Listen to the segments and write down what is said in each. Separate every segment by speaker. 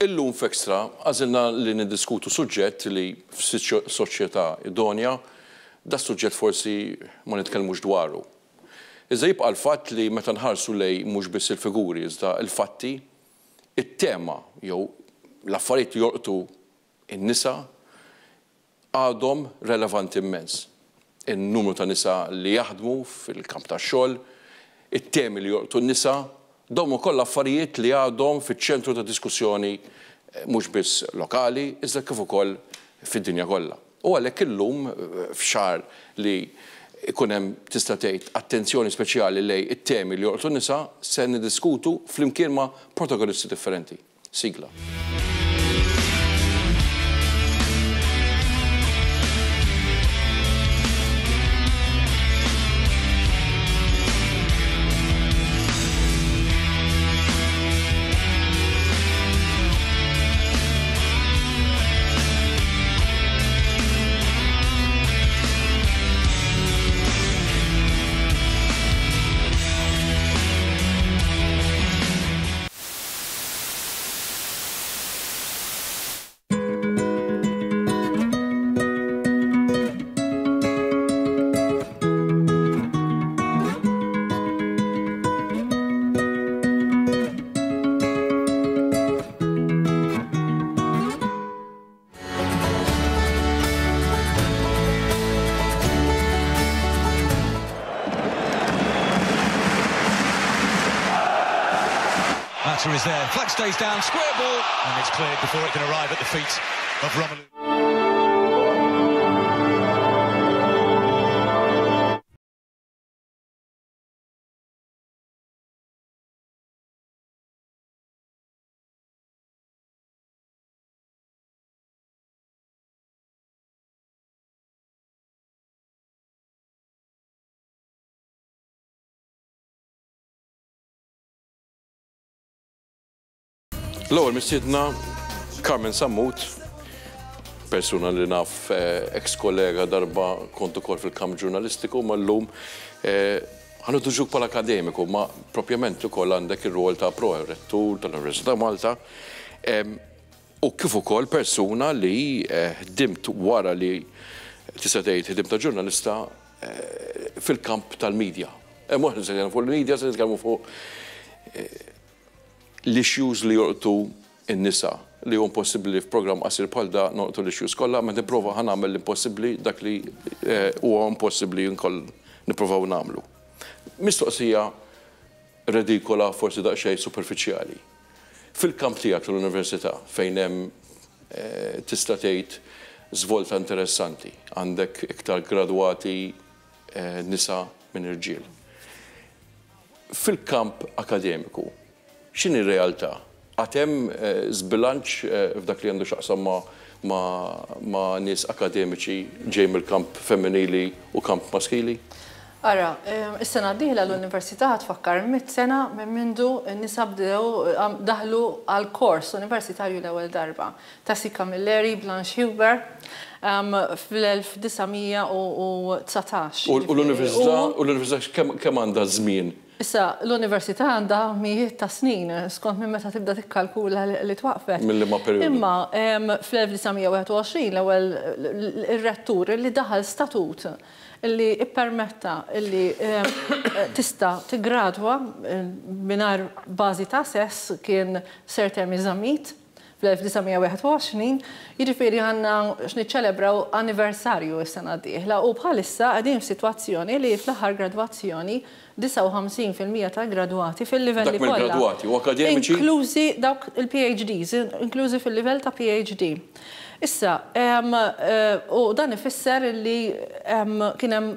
Speaker 1: Illum f'Extra għażilna li niddiskutu suġġett li f'soċjetà idonja, das-suġġett forsi ma nitkellmux dwaru. Iżda jibqa' l-fatt li meta nħarsu lejn mhux biss il-figuri iżda l-fatti, it-tema jew l-affarijiet li jolqtu n-nisa għadhom relevanti immens. In-numru ta' nisa li jaħdmu fil-kamp tax-xogħol, it-temi li jolqtu n-nisa, dawn huma kollha affarijiet li għadhom fiċ-ċentru ta' diskussjoni mhux biss lokali iżda kif ukoll fid-dinja kollha. U għalhekk illum f'xahar li jkun hemm tista' tgħid attenzjoni speċjali lejn it-temi li jolqtu n-nisa se niddiskutu flimkien ma' protagonisti differenti. Sigla.
Speaker 2: Matter is there. Flag stays down, square ball, and it's cleared before it can arrive at the feet of Romelu.
Speaker 1: L-ewwel mistiedna Carmen Sammut, persuna li naf eh, ex kollega darba kont ukoll fil-kamp ġurnalistiku, ma llum eh, ħa nidduġuk bħala akademiku, ma propjament ukoll għandek ir-rol ta' pro-rettur tal-Università Malta. U kif ukoll persuna li ħdimt wara li tista' tgħid ħdimt ta' ġurnalista fil-kamp tal-media. Mhux se nitkellmu fuq il-media, se nitkellmu fuq l-issues li jolqtu n-nisa li hu impossibbli li f'programm qasir bħal da nolqtu l-issues kollha, ma nipprova ħa nagħmel l-impossibbli dak li huwa impossibbli nkoll nipprovaw nagħmlu. Mistoqsija redikola forsi daqsxejn superfiċjali. Fil-kamp tiegħek tal-università fejn hemm tista' tgħid żvolta interessanti, għandek iktar gradwati nisa minn irġiel. Fil-kamp akademiku, x'inhi r-realtà? Għad hemm żbilanċ f'dak li għandu x'jaqsam ma' nies akademiċi ġej mill-kamp femminili u kamp maskili?
Speaker 3: Ara, is-sena d-dieħla l-Università ħa tfakkar mitt sena minn mindu n-nisa bdew daħlu għall-kors universitarju l-ewwel darba. Tessie Camilleri, Blanche Huber, fl-1919.
Speaker 1: U l-Università, u l-Università kemm għandha żmien?
Speaker 3: Issa, l-Università għandha mijiet ta' snin, skont minn meta tibda tikkalkula li twaqqfet.
Speaker 1: Minn liema perjodu?
Speaker 3: Imma fl-1921 l-ewwel ir-rettur li daħal statut li ppermetta li tista' tiggradwa mingħajr bażi ta' sess kien Sir Temi Zammit fl-1921, jiġifieri għandna x'niċċelebraw anniversarju s-sena d-dieħla u bħalissa qegħdin f'sitwazzjoni li fl-aħħar gradwazzjoni 59% tal-gradwati fil-livelli
Speaker 1: kollha. Dak mill-gradwati u akademiċi?
Speaker 3: Inklużi dawk il-PhDs, inklużi fil-livell ta' PhD. Issa, u dan ifisser li kien hemm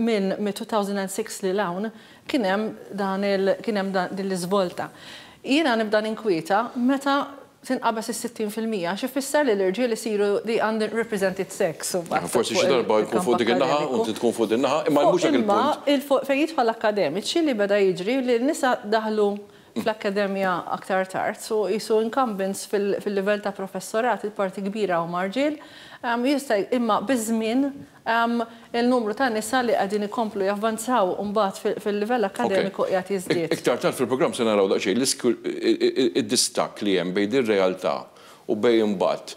Speaker 3: minn 2006 lil hawn kien hemm dan il kien hemm din l-iżvolta. Jiena nibda ninkwieta meta tinqabeż is-60% għax ifisser li l-irġiel isiru the underrepresented sex
Speaker 1: imbagħad. Forsi xi darba jkun fuq dik in-naħa u inti tkun fuq din naħa, imma mhux dak il-punt.
Speaker 3: Imma fejn jidħol l-akkademiċi li beda jiġri li n-nisa daħlu. fl-akkademja aktar tard, so qisu incumbents fil-livell ta' professorat il-parti kbira huma rġiel, jista' imma biż-żmien il-numru ta' nisa li qegħdin ikomplu javvanzaw mbagħad fil-livell akkademiku qiegħed jiżdied.
Speaker 1: Iktar tard fil-programm se naraw daqsxejn id-distakk li hemm bejn din ir-realtà u bejn imbagħad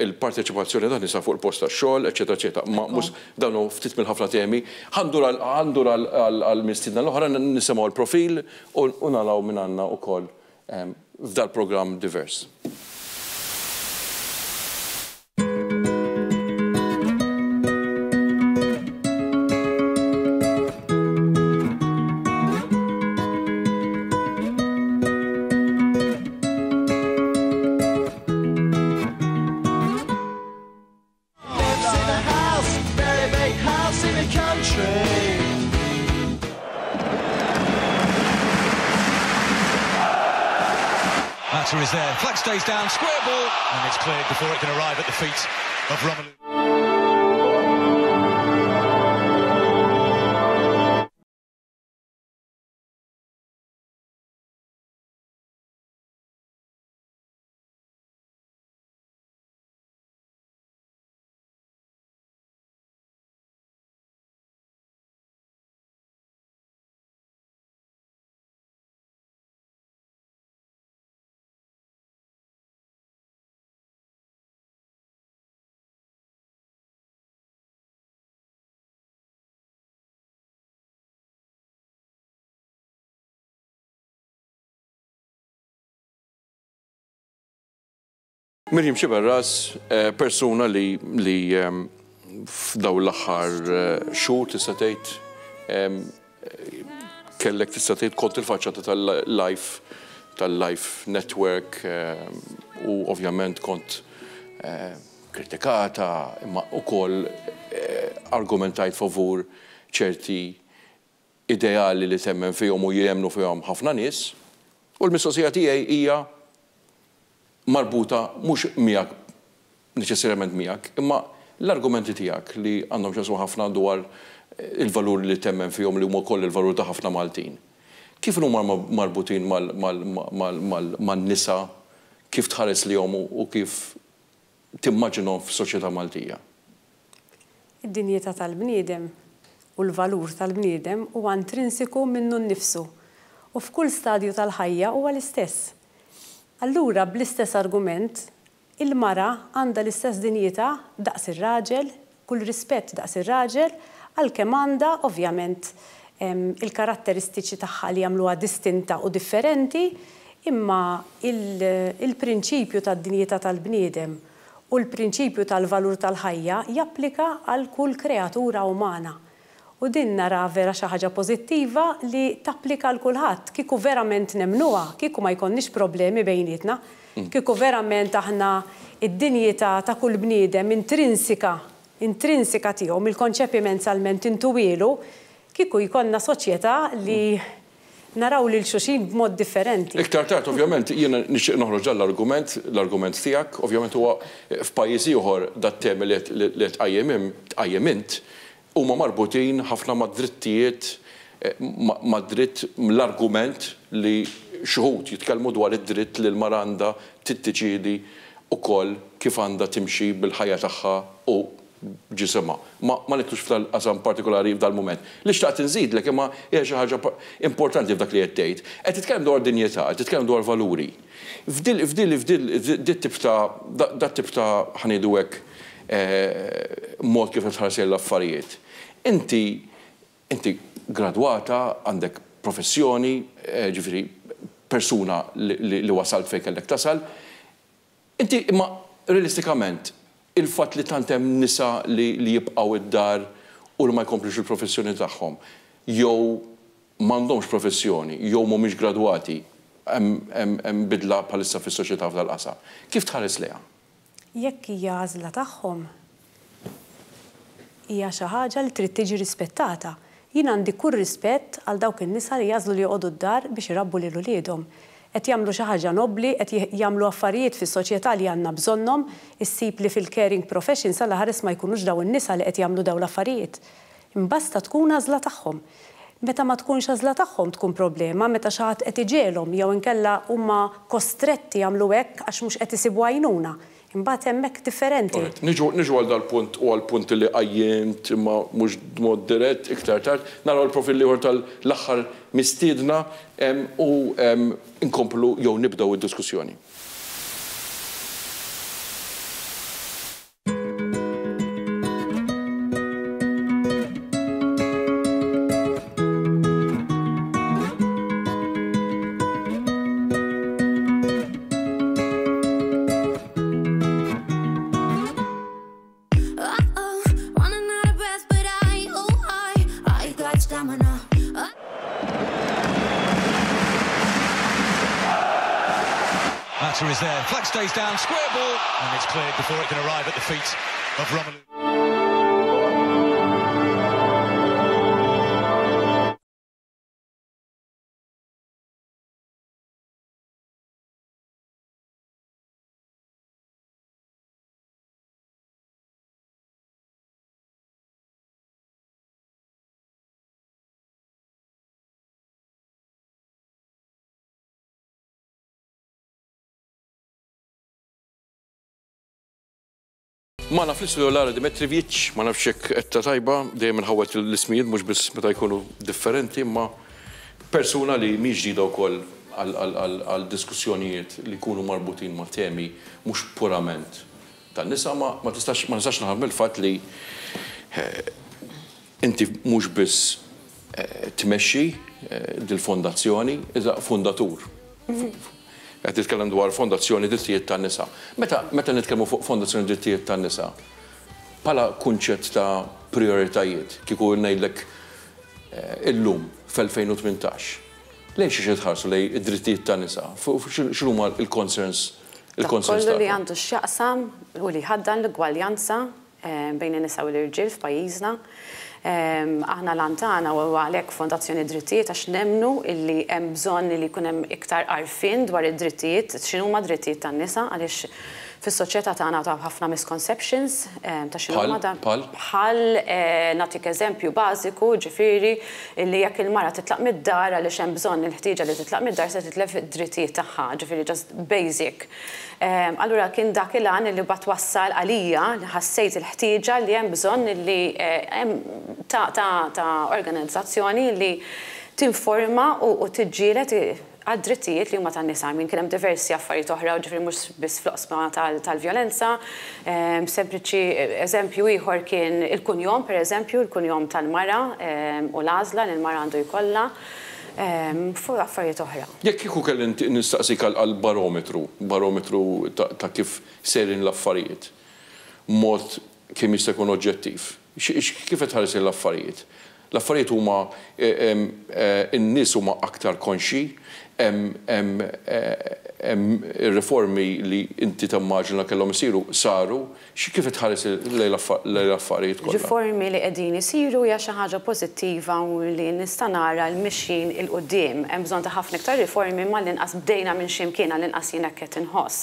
Speaker 1: il-parteċipazzjoni tan-nisa fuq il-post tax-xogħol, eċċetera eċċetera. Ma mhux dawn hu ftit mill-ħafna temi. Ħa ndur ħa ndur għall-mistiedna l-oħra nisimgħu l-profil u naraw min għandna wkoll f'dal-programm divers.
Speaker 2: Matter is there. Flag stays down, square ball, and it's cleared before it can arrive at the feet of Romelu.
Speaker 1: Miriam Sciberras, persuna li li f'dawn l-aħħar xhur tista' tgħid kellek tista' tgħid kont il-faċċata tal-Life tal-Life Network u ovvjament kont kritikata imma wkoll argumentajt favur ċerti ideali li temmen fihom u jemmnu fihom ħafna nies. U l-mistoqsija tiegħi hija marbuta mhux miegħek neċessarjament miegħek, imma l-argumenti tiegħek li għandhom x'jaqsmu ħafna dwar il-valuri li temmen fihom li huma wkoll il-valur ta' ħafna Maltin. Kif inhuma marbutin man-nisa, kif tħares lejhom u kif timmaġinhom f'soċjetà Maltija?
Speaker 4: Id-dinjità tal-bniedem u l-valur tal-bniedem huwa intrinsiku minnu nnifsu u f'kull stadju tal-ħajja huwa l-istess. Allura bl-istess argument, il-mara għandha l-istess dinjità daqs ir-raġel, kull rispett daqs ir-raġel, għalkemm għandha ovvjament il-karatteristiċi tagħha li jagħmluha distinta u differenti, imma il-prinċipju tad-dinjità tal-bniedem u l-prinċipju tal-valur tal-ħajja japplika għal kull kreatura umana. U din naraha vera xi ħaġa pożittiva li tapplika għal kulħadd. Kieku verament nemmnuha, kieku ma jkollniex problemi bejnietna. Kieku verament aħna d-dinjità ta' kull bniedem intrinsika, intrinsika tiegħu mill-konċepiment sal-ment intuwielu, kieku jkollna soċjetà li naraw lil xulxin b'mod differenti.
Speaker 1: Iktar tard, ovvjament, jiena nixtieq noħroġ dan l-argument, l-argument tiegħek, ovvjament huwa f'pajjiż ieħor dat-temi li qed tqajjem tqajjem int huma marbutin ħafna mad-drittijiet, mad-dritt, l-argument li xi wħud jitkellmu dwar id-dritt li l-mara għandha tiddeċiedi wkoll kif għandha timxi bil-ħajja tagħha u ġisimha. Ma ma nidħlux f'dal-qasam partikolari f'dal-mument. Li xtaqt inżidlek imma hija xi ħaġa importanti f'dak li qed tgħid. Qed titkellem dwar dinjità, qed titkellem dwar valuri. F'dil f'dil f'dil dit-tip ta' dat-tip ta' ħa ngħidu hekk mod kif qed tħares lejn l-affarijiet. Inti inti gradwata, għandek professjoni, ġifieri persuna li li wasalt fejn kellek tasal. Inti imma realistikament il-fatt li tant hemm nisa li li jibqgħu id-dar u li ma jkomplux il-professjoni tagħhom jew m'għandhomx professjoni jew mhumiex gradwati hemm hemm hemm bidla bħalissa fis-soċjetà f'dal-qasam. Kif tħares lejha?
Speaker 4: Jekk hija għażla tagħhom, hija xi ħaġa li trid tiġi rispettata. Jien għandi kull rispett għal dawk in-nisa li jagħżlu li joqogħdu d-dar biex irabbu lil uliedhom. Qed jagħmlu xi ħaġa nobbli, qed jagħmlu affarijiet fis-soċjetà li għandna bżonnhom, issib li fil-caring profession sal-aħares ma jkunux dawn in-nisa li qed jagħmlu dawn l-affarijiet. Imbasta tkun għażla tagħhom. Meta ma tkunx għażla tagħhom tkun problema, meta xi ħadd qed iġegħelhom jew inkella huma kostretti jagħmlu hekk għax mhux qed isibu għajnuna. Imbagħad hemmhekk differenti.
Speaker 1: Alright. Niġu niġu għal dal-punt u għall-punt li qajjimt imma mhux b'mod dirett iktar tard. Naraw il-profil l-ieħor tal-aħħar mistiedna u nkomplu jew nibdew id-diskussjoni.
Speaker 2: Matter is there. Flag stays down, square ball, and it's cleared before it can arrive at the feet of Romelu.
Speaker 1: Magħna fl-istudio Lara Dimitrivic, ma nafx jekk għedtha tajba, dejjem inħawwad l-ismijiet mhux biss meta jkunu differenti imma persuna li mhix ġdida wkoll għal diskussjonijiet li jkunu marbutin ma' temi mhux purament tan-nisa ma ma tistax ma nistax naħrab mill-fatt li inti mhux biss tmexxi dil-fondazzjoni iżda fundatur. Qed nitkellem dwar Fondazzjoni Drittijiet tan-Nisa. Meta meta nitkellmu fuq Fondazzjoni Drittijiet tan-Nisa, bħala kunċett ta' prijoritajiet, kieku ngħidlek illum fl-2018, lejn xiex qed tħarsu lejn id-drittijiet tan-nisa? X'inhuma l-concerns il-concerns
Speaker 5: Dak kollu li għandu x'jaqsam u li jħaddan l-ugwaljanza bejn in-nisa u l-irġiel f'pajjiżna. Aħna l-għan tagħna huwa għalhekk Fondazzjoni Drittijiet għax nemmnu illi hemm bżonn li jkun hemm iktar għarfien dwar id-drittijiet, x'inhuma d-drittijiet tan-nisa għaliex fis-soċjetà tagħna hawn ħafna misconceptions ta' x'inhuma
Speaker 1: Bħal? Bħal?
Speaker 5: Bħal, nagħtik eżempju bażiku, ġifieri illi jekk il-mara titlaq mid-dar għaliex hemm bżonn il-ħtieġa li titlaq mid-dar se titlef id-drittijiet tagħha, ġifieri just basic. Allura kien dak il-għan li mbagħad wassal għalija li ħassejt il-ħtieġa li hemm bżonn li hemm ta' ta' ta' organizzazzjoni li tinforma u tiġġieled għad-drittijiet li huma tan-nisa. I mean kien hemm diversi affarijiet oħra, ġifieri mhux biss fl-oqsma tal-vjolenza. Sempliċi eżempju ieħor kien il-kunjom, pereżempju, il-kunjom tal-mara u l-għażla li l-mara għandu jkollha. Fuq affarijiet oħra.
Speaker 1: Jekk kieku kelli nistaqsik għal barometru, barometru ta' kif sejrin l-affarijiet, b'mod kemm jista' jkun oġġettiv, kif qed tħares lejn l-affarijiet? L-affarijiet huma in-nies huma aktar konxji, hemm ir-riformi li inti timmaġina kellhom isiru saru, Kif qed tħares lejn l-affarijiet kollha?
Speaker 5: Riformi li qegħdin isiru hija xi ħaġa pożittiva u li nista' nara l-mixjin 'il quddiem. Hemm bżonn ta' ħafna iktar riformi imma għall-inqas bdejna minn xi mkien, għall-inqas jien hekk qed inħoss.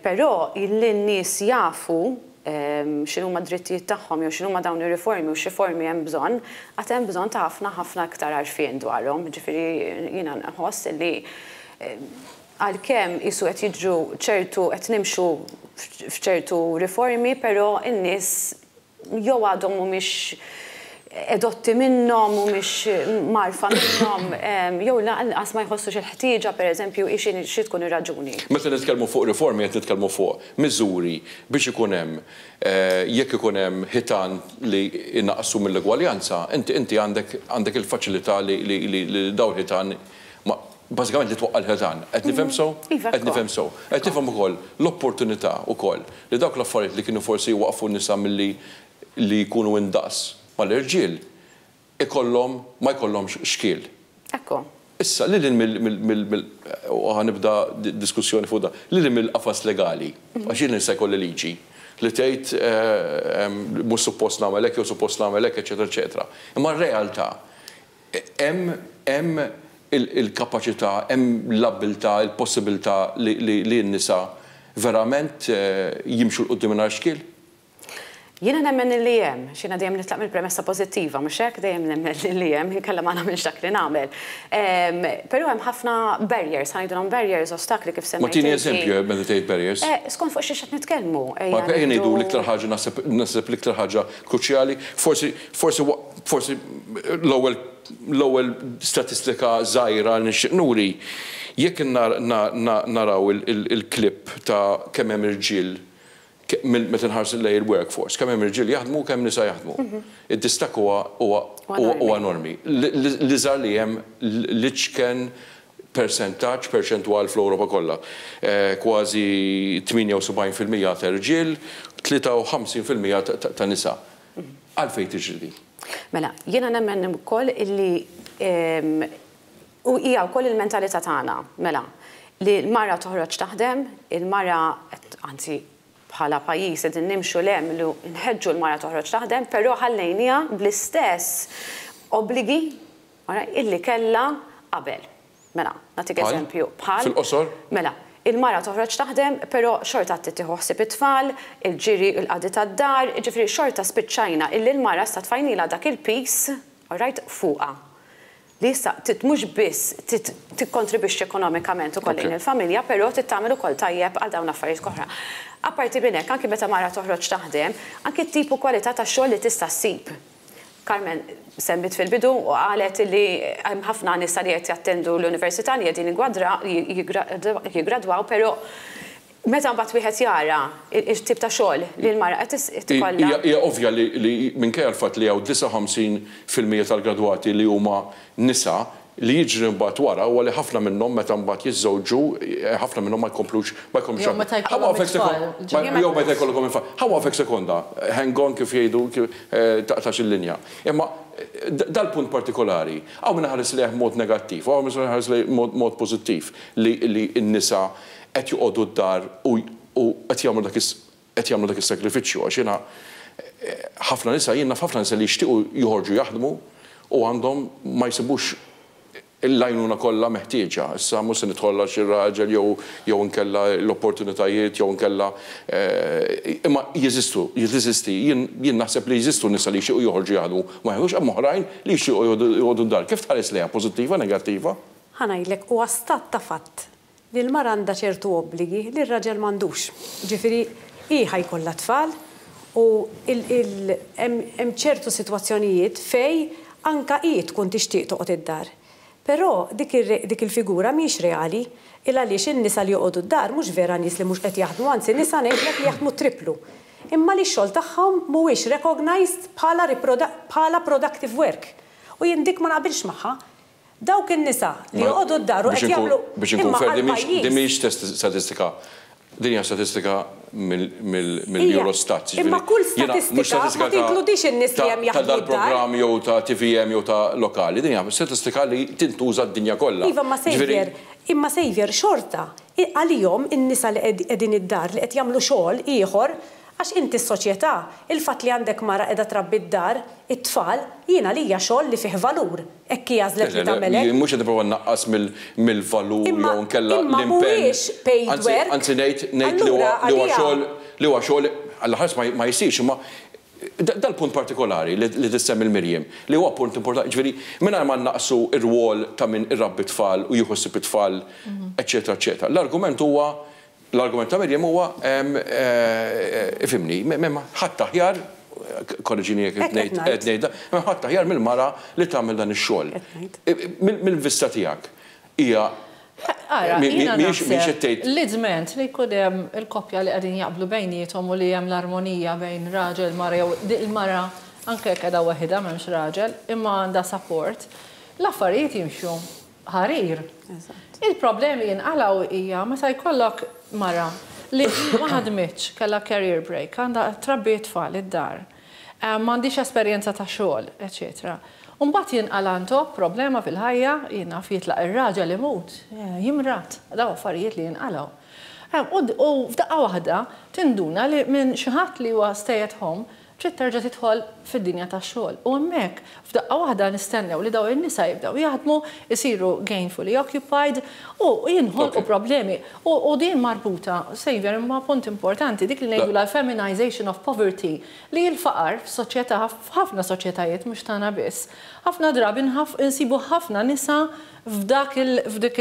Speaker 5: Però li n-nies jafu x'inhuma d-drittijiet tagħhom jew x'inhuma dawn ir-riformi u x'riformi hemm bżonn, għad hemm bżonn ta' ħafna ħafna iktar għarfien dwarhom. Jiġifieri jiena nħoss li Għalkemm qisu qed jiġru ċertu qed nimxu f'ċertu riformi però n-nies jew għadhom mhumiex edotti minnhom, mhumiex mgħarrfa minnhom, jew lanqas ma jħossux il-ħtieġa pereżempju hi xi xi tkun ir-raġuni.
Speaker 1: Meta nitkellmu fuq riformi qed nitkellmu fuq miżuri biex ikun hemm jekk ikun hemm ħitan li jnaqqsu mill-egwaljanza, inti inti għandek għandek il-faċilità li li dawn il-ħitan ma Bażikament li twaqqa' l-ħitan. Qed nifhem sew?
Speaker 5: Iva,
Speaker 1: Qed nifhem sew. Qed nifhem ukoll l-opportunità wkoll li dawk l-affarijiet li kienu forsi jwaqqfu n-nisa milli li jkunu indaqs mal-irġiel ikollhom ma jkollhomx xkiel.
Speaker 5: Ekku.
Speaker 1: Issa, lil hinn mill mill mill u ħa nibda diskussjoni fuq dan, lil hinn mill-qafas legali, għax jien nista' jkolli liġi li tgħid mhux suppost nagħmel hekk jew suppost nagħmel hekk, eċċetera, eċċetera. Imma r-realtà Hemm hemm il-kapaċità, hemm l-abbiltà, il-possibilità li li n-nisa verament jimxu 'l quddiem mingħajr xkiel?
Speaker 5: Jiena nemmen illi hemm, għax jiena dejjem nitlaq mill-premessa pożittiva, mhux hekk? Dejjem nemmen illi hemm, inkella ma nagħmilx dak li nagħmel. Però hemm ħafna barriers, ħa ngħidulhom barriers, ostakli kif
Speaker 1: semmejt. Ma tini eżempju meta tgħid barriers.
Speaker 5: Skont fuq xiex qed nitkellmu.
Speaker 1: Ma ejja ngħidu l-iktar ħaġa naħseb naħseb l-iktar ħaġa kruċjali, forsi forsi forsi l-ewwel l-ewwel statistika żgħira li nixtieq nuri, jekk naraw il-clip ta' kemm hemm irġiel meta nħarsu lejn il-workforce, kemm hemm irġiel jaħdmu u kemm nisa jaħdmu. Id-distakk huwa huwa huwa enormi. L-iżgħar li hemm l-iċken persentaġġ, perċentwal fl-Ewropa kollha. Kważi 78% ta' irġiel, 53% ta' nisa. Għalfejn tiġri din?
Speaker 5: Mela, jiena nemmen ukoll illi U hija wkoll il-mentalità tagħna, mela, li l-mara toħroġ taħdem, il-mara, anzi bħala pajjiż qegħdin nimxu 'l hemm li nħeġġu l-mara toħroġ taħdem, però ħallejniha bl-istess obbligi illi kellha qabel. Mela, nagħtik eżempju,
Speaker 1: bħal. Fil-qosor?
Speaker 5: Mela, il-mara toħroġ taħdem, però xorta trid tieħu ħsieb it-tfal, il-ġiri, il-qadi tad-dar, jiġifieri xorta spiċċajna illi l-mara issa tfajnilha dak il-piż, all right, fuqha. Li issa trid mhux biss trid tikkontribwixxi ekonomikament ukoll lejn il-familja, però trid tagħmel ukoll tajjeb għal dawn l-affarijiet oħra. Apparti minn hekk, anki meta mara toħroġ taħdem, anki t-tip u kwalità ta' xogħol li tista' ssib. Carmen semmiet fil-bidu u qalet li hemm ħafna nisa li qed jattendu l-università li qegħdin jiggradwaw, però Meta mbagħad wieħed jara t-tip ta' xogħol li l-mara qed ikollha.
Speaker 1: Hija ovvja li minkejja l-fatt li hawn 59% tal-gradwati li huma nisa, li jiġri mbagħad wara huwa li ħafna minnhom meta mbagħad jiżżewġu, ħafna minnhom ma jkomplux ma jkomplux
Speaker 3: Jew meta jkollhom it-tfal.
Speaker 1: Jew meta jkollhom it-tfal. Ħa nwaqfek sekonda, hang on kif jgħidu taqtax il-linja. Imma dal-punt partikolari, hawn min iħares lejh b'mod negattiv u hawn min iħares lejh b'mod pożittiv li n-nisa qed joqogħdu d-dar u u qed jagħmlu dak is qed jagħmlu dak is-sagrifiċċju għax jiena ħafna nisa jien naf ħafna nisa li jixtiequ joħorġu jaħdmu u għandhom ma jsibux l-għajnuna kollha meħtieġa. Issa mhux se nidħol għax ir-raġel jew jew inkella l-opportunitajiet jew inkella imma jeżistu, jeżisti jien jien naħseb li jeżistu nisa li jixtiequ joħorġu jaħdmu ma jaħdmux hemm oħrajn li jixtiequ joqogħdu d-dar. Kif tħares lejha, pożittiva, negattiva?
Speaker 4: Ħa ngħidlek, huwa stat ta' fatt li l-mara għandha ċertu obbligi li r-raġel m'għandux. Jiġifieri hi ħa jkollha tfal u hemm ċertu sitwazzjonijiet fejn anke hi tkun tixtieq toqgħod id-dar. Però dik dik il-figura mhijiex reali il għaliex in-nisa li joqogħdu d-dar mhux vera nies li mhux qed jaħdmu anzi nisa ngħidlek li jaħdmu t-tripplu. Imma li x-xogħol tagħhom mhuwiex recognized bħala bħala productive work. U jien dik ma naqbilx magħha. Dawk in-nisa li joqogħdu d-dar u qed jagħmlu
Speaker 1: Biex inkun fair, din mhijiex statistika, din hija statistika mill-Eurostat.
Speaker 4: Imma kull statistika ma tinkludix in-nies li hemm jaħdmu d-dar.
Speaker 1: Ta' dal-programm jew ta' TVM jew ta' lokali, din hija statistika li tintuża d-dinja kollha.
Speaker 4: Iva, imma Saviour, imma Saviour, xorta, għalihom in-nisa li qegħdin id-dar li qed jagħmlu xogħol ieħor Għax inti s-soċjetà, il-fatt li għandek mara qiegħda trabbi d-dar, it-tfal, jien għalija xogħol li fih valur. Hekk hi għażlet li tagħmel hekk.
Speaker 1: Jien mhux qed nipprova nnaqqas mill-valur jew inkella
Speaker 4: l-impenn. Imma mhuwiex paid work.
Speaker 1: Anzi ngħid ngħid li huwa xogħol li huwa xogħol Alla ħares ma jsirx imma dal-punt partikolari li tissemmi l-Miriam li huwa punt importanti, jiġifieri mingħajr ma nnaqqsu r-rwol ta' min irabbi t-tfal u jieħu ħsieb it-tfal eċċetera eċċetera. L-argument huwa L-argument ta' Miriam huwa, ifhimni, m'hemm ħadd aħjar, korreġini jekk qed ngħid qed ngħid, m'hemm ħadd aħjar mill-mara li tagħmel dan ix-xogħol. Mill-vista tiegħek hija
Speaker 3: Ara, jiena naħseb li dment li jkun hemm il-koppja li qegħdin jaqblu bejniethom u li hemm l-armonija bejn raġel, mara jew il-mara anke jekk qiegħda waħidha m'hemmx raġel, imma għandha support, l-affarijiet jimxu ħarir. Il-problemi jinqalgħu hija meta jkollok mara li ma ħadmitx, kellha career break, għandha trabbi t-tfal id-dar, m'għandhiex esperjenza ta' xogħol, eċċetera. U mbagħad jinqala' ntop problema fil-ħajja, jien naf jitlaq ir-raġel imut, jimrad, dawn affarijiet li jinqalgħu. U f'daqqa waħda tinduna li minn xi ħadd li huwa stay at home. Trid terġa' tidħol fid-dinja tax-xogħol. U hemmhekk, f'daqqa waħda nistennew li dawn in-nisa jibdew jaħdmu, isiru gainfully occupied u jinħolqu problemi. U din marbuta, Saviour, ma' punt importanti, dik li ngħidulha l-feminization of poverty, li l-faqar f'soċjetà, f'ħafna soċjetajiet, mhux tagħna biss, ħafna drabi nsibu ħafna nisa f'dak il, f'dik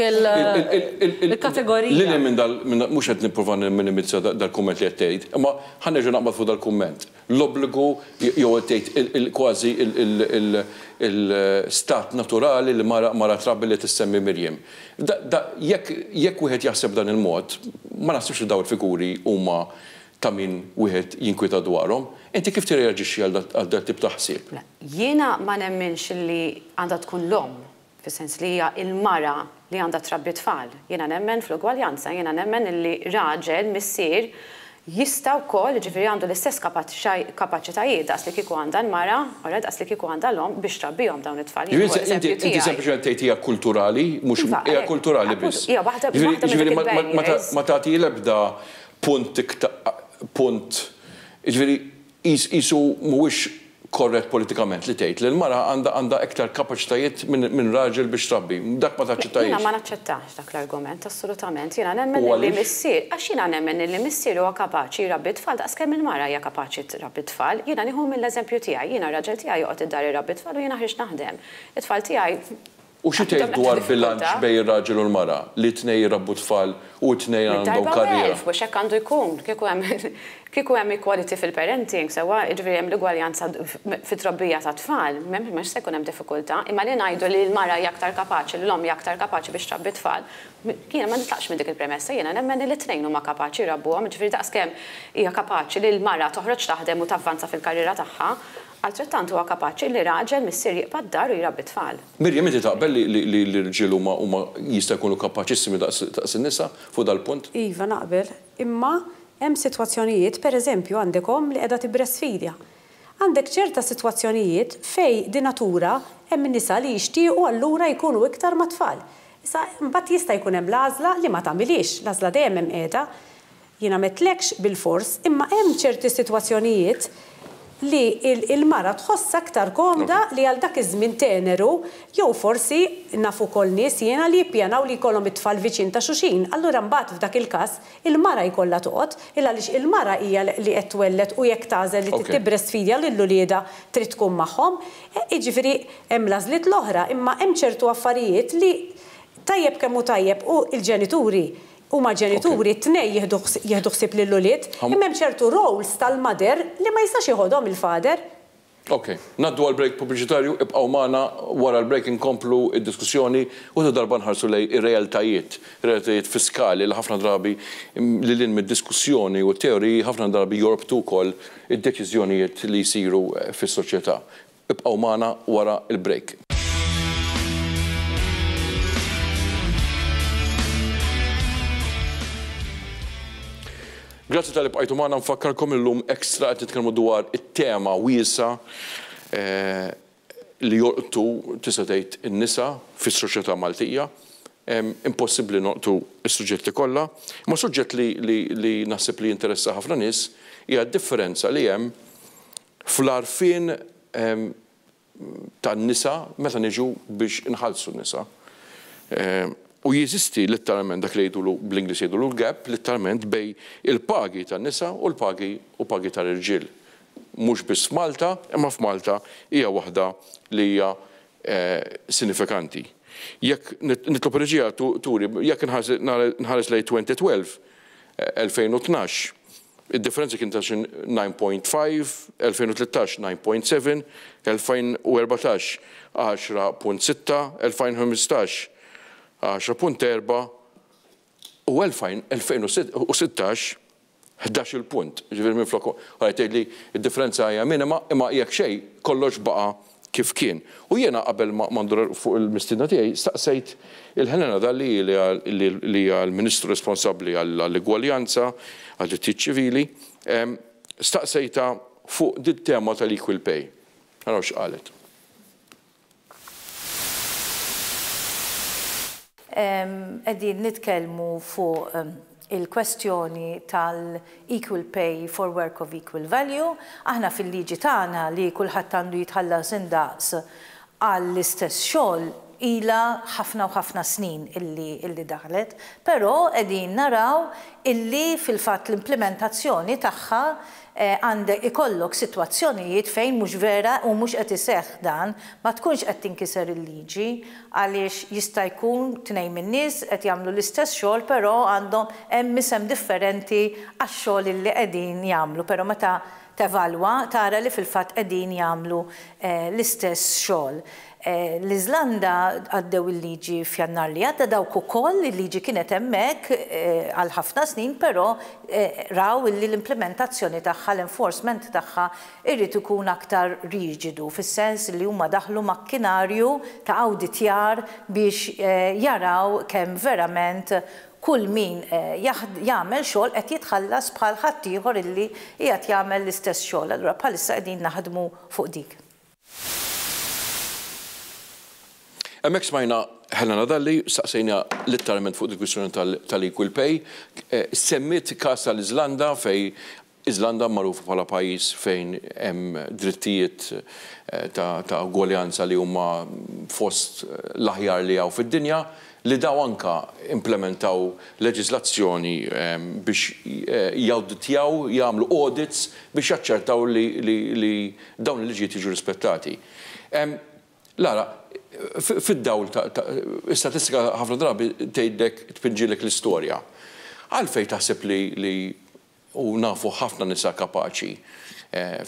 Speaker 3: il-kategorija.
Speaker 1: Lil hinn minn dal, mhux qed nipprova nimminimizza dal-kumment li qed tgħid, imma ħa nerġa' naqbad fuq dal-kumment. L-obbligu jew qed tgħid kważi il-stat naturali li mara trabbi li tissemmi Miriam. Jekk wieħed jaħseb b'dan il-mod, ma naħsibx li dawn il-figuri huma ta' min wieħed jinkwieta dwarhom. Inti kif tirreaġixxi għal dat-tip ta' ħsieb?
Speaker 5: Jiena ma nemminx li għandha tkun l-omm fis-sens li hija l-mara li għandha trabbi t-tfal. Jiena nemmen fl-ugwaljanza, jiena nemmen illi raġel, missier, jista' wkoll, jiġifieri għandu l-istess kapaċitajiet daqs li kieku għandha l-mara, alright, daqs li kieku għandha l-omm biex trabbihom dawn it-tfal. Jien nieħu
Speaker 1: l-eżempju tiegħi. Inti sempliċement tgħid hija kulturali, mhux hija kulturali biss.
Speaker 5: Hija waħda minn dik il-barriers.
Speaker 1: Ma tagħti l-ebda punt iktar, punt, jiġifieri Qisu mhuwiex korrett politikament li tgħid li l-mara għandha għandha iktar kapaċitajiet minn raġel biex trabbi. Dak ma taċċettajiex.
Speaker 5: Jiena ma naċċettax dak l-argument, assolutament. Jiena nemmen li missier, għax jiena nemmen li missier huwa kapaċi jrabbi t-tfal daqs kemm il-mara hija kapaċi trabbi t-tfal. Jiena nieħu mill-eżempju tiegħi. Jiena r-raġel tiegħi joqgħod id-dar irabbi t-tfal u jiena ħriġt naħdem. It-tfal tiegħi
Speaker 1: U xi tgħid dwar bilanċ bejn ir-raġel u l-mara, li t-tnejn jrabbu t-tfal u t-tnejn għandhom karriera?
Speaker 5: Mid-darba u elf, mhux hekk għandu jkun. Kieku hemm kieku hemm equality fil-parenting, sewwa, jiġifieri hemm l-ugwaljanza fit-trobbija tat-tfal, m'hemmx se jkun hemm diffikultà. Imma li ngħidu li l-mara hija aktar kapaċi, li l-omm hija aktar kapaċi biex trabbi t-tfal, jiena ma nitlaqx minn dik il-premessa, jiena nemmen li t-tnejn huma kapaċi jrabbuhom, jiġifieri daqskemm hija kapaċi li l-mara toħroġ taħdem u tavvanza fil-karriera tagħha, Altrettant huwa kapaċi li raġel missier jibqa' d-dar u jrabbi t-tfal.
Speaker 1: Miriam, inti taqbel li l-irġiel huma huma jista' jkunu kapaċissimi daqs in-nisa fuq dal-punt?
Speaker 4: Iva, naqbel. Imma hemm sitwazzjonijiet, per eżempju għandek omm li qiegħda tibbrestfeedja. Għandek ċerta sitwazzjonijiet fejn di natura hemm nisa li jixtiequ allura jkunu iktar mat-tfal. Issa mbagħad jista' jkun hemm l-għażla li ma tagħmilhiex, l-għażla dejjem hemm qiegħda. Jiena m'għedtlekx bilfors, imma hemm ċerti sitwazzjonijiet li l-mara tħossha aktar komda li għal dak iż-żmien teneru jew forsi naf ukoll nies jiena li jippjanaw li jkollhom it-tfal viċin ta' xulxin, allura mbagħad f'dak il-każ il-mara jkollha toqgħod, il għaliex il-mara hija li qed twelled u jekk tagħżel li trid tibbrestfidja lil uliedha trid tkun magħhom. Jiġifieri hemm l-għażliet l-oħra, imma hemm ċertu affarijiet li tajjeb kemm hu tajjeb u l-ġenituri Huma ġenituri, t-tnejn jieħdu jieħdu ħsieb lill-ulied, imma hemm ċertu roles tal-mother li ma jistax jeħodhom il-father.
Speaker 1: Ok. Ngħaddu għal break pubbliċitarju, ibqgħu magħna, wara l-break inkomplu d-diskussjoni u ta' darba nħarsu lejn ir-realtajiet, realtajiet fiskali li ħafna drabi lil hinn mid-diskussjoni u t-teoriji ħafna drabi jorbtu wkoll id-deċiżjonijiet li jsiru fis-soċjetà. Ibqgħu magħna wara l-break. Grazzi talli bqajtu magħna, nfakkarkom illum extra qed nitkellmu dwar it-tema wiesgħa li jolqtu tista' tgħid in-nisa fis-soċjetà Maltija. Impossibbli nolqtu s-suġġetti kollha, imma suġġett li li naħseb li jinteressa ħafna nies hija d-differenza li hemm fl-għarfien tan-nisa meta niġu biex inħallsu n-nisa. U jeżisti litteralment dak li jgħidulu bl-Ingliż jgħidulu l-gap litteralment bejn il-pagi tan-nisa u l-pagi u pagi tal-irġiel. Mhux biss f'Malta, imma f'Malta hija waħda li hija sinifikanti. Jekk nitlob ir-reġija turi, jekk nħares lejn 2012, 2012, Id-differenza kien ta' xi 9.5, 2013 9.7, 2014 10.6, 2015 10.4 u 2016 11-il punt. Jiġifieri minflok qed tgħidli d-differenza hija minima imma jekk xejn kollox baqa' kif kien. U jiena qabel ma ndur fuq il-mistiedna tiegħi staqsejt il Helena Dalli li hija l-Ministru responsabbli għall-igwaljanza, għad-drittijiet ċivili, staqsejtha fuq dit-tema tal-equal pay. Araw x'qalet.
Speaker 6: Qegħdin nitkellmu fuq. il-kwestjoni tal-equal pay for work of equal value. Aħna fil-liġi tagħna li kulħadd għandu jitħallas indaqs għall-istess xogħol ilha ħafna u ħafna snin illi illi daħlet, però qegħdin naraw illi fil-fatt l-implimentazzjoni tagħha għandek ikollok sitwazzjonijiet fejn mhux vera u mhux qed iseħħ dan, ma tkunx qed tinkiser il-liġi għaliex jista' jkun tnejn min-nies qed jagħmlu l-istess xogħol però għandhom hemm isem differenti għax-xogħol illi qegħdin jagħmlu però meta tevalwa tara li fil-fatt qegħdin jagħmlu l-istess xogħol. L-Iżlanda għaddew il-liġi f'Jannar li għadda, dawk ukoll, il-liġi kienet hemmhekk għal ħafna snin però raw illi l-implimentazzjoni tagħha, l-enforcement tagħha jrid ikun aktar riġidu fis-sens li huma daħlu makkinarju ta' awditjar biex jaraw kemm verament kull min jagħmel xogħol qed jitħallas bħal ħaddieħor illi qiegħed jagħmel l-istess xogħol. Allura bħalissa qegħdin naħdmu fuq dik.
Speaker 1: Hemmhekk smajna Helena Dalli, saqsejna litteralment fuq il-kwistjoni tal-equal pay. Semmiet każ tal-Iżlanda fejn Iżlanda magħrufa bħala pajjiż fejn hemm drittijiet ta' ugwaljanza li huma fost l-aħjar li hawn fid-dinja, li daw anke implementaw leġiżlazzjoni biex jawditjaw, jagħmlu audits biex jaċċertaw li dawn il-liġijiet jiġu rispettati. Lara, fid-dawl ta' istatistika ħafna drabi tgħidlek tpinġilek l-istorja. Għalfejn taħseb li u nafu ħafna nisa kapaċi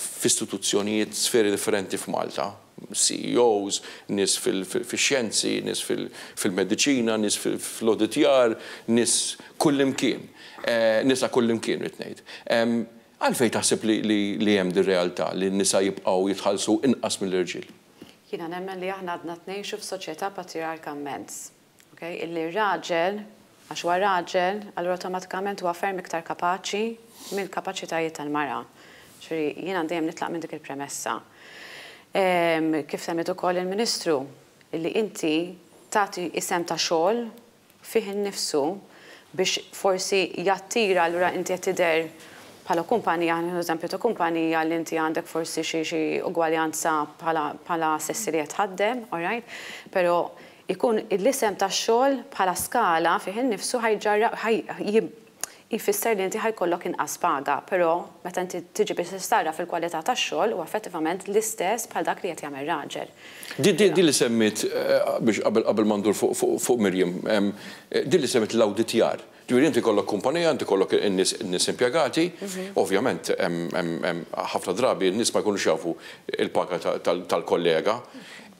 Speaker 1: f'istituzzjonijiet, sferi differenti f'Malta, CEOs, nies fix-xjenzi, nies fil-mediċina, nies fl-awditjar, nies kullimkien, nisa kullimkien rrid ngħid. Għalfejn taħseb li hemm dir-realtà li n-nisa jibqgħu jitħallsu inqas mill-irġiel?
Speaker 5: Jiena nemmen li aħna għadna ngħixu f'soċjetà patrijarka immens. Okay? Illi r-raġel, għax huwa raġel, allura awtomatikament huwa ferm iktar kapaċi mill-kapaċitajiet tal-mara. Ġifieri jiena dejjem nitlaq minn dik il-premessa. Kif semmiet ukoll il-Ministru, illi inti tagħti isem ta' xogħol fih innifsu biex forsi jattira, allura inti qed tidher bħala kumpanija, ħa eżempju ta' kumpanija li inti għandek forsi xi xi ugwaljanza bħala bħala sessi li qed tħaddem, all right? Però ikun l-isem tax-xogħol bħala skala fih innifsu ħa jġarra jfisser li inti ħa jkollok inqas paga, però meta inti tiġi biex tistara fil-kwalità tax-xogħol huwa effettivament l-istess bħal dak li qed jagħmel raġel.
Speaker 1: Di li semmiet biex qabel ma ndur fuq Miriam, di li semmiet l-awditjar. Ġifieri inti jkollok kumpanija, inti jkollok in-nies impjegati, ovvjament ħafna drabi n-nies ma jkunux jafu l-paga tal-kollega,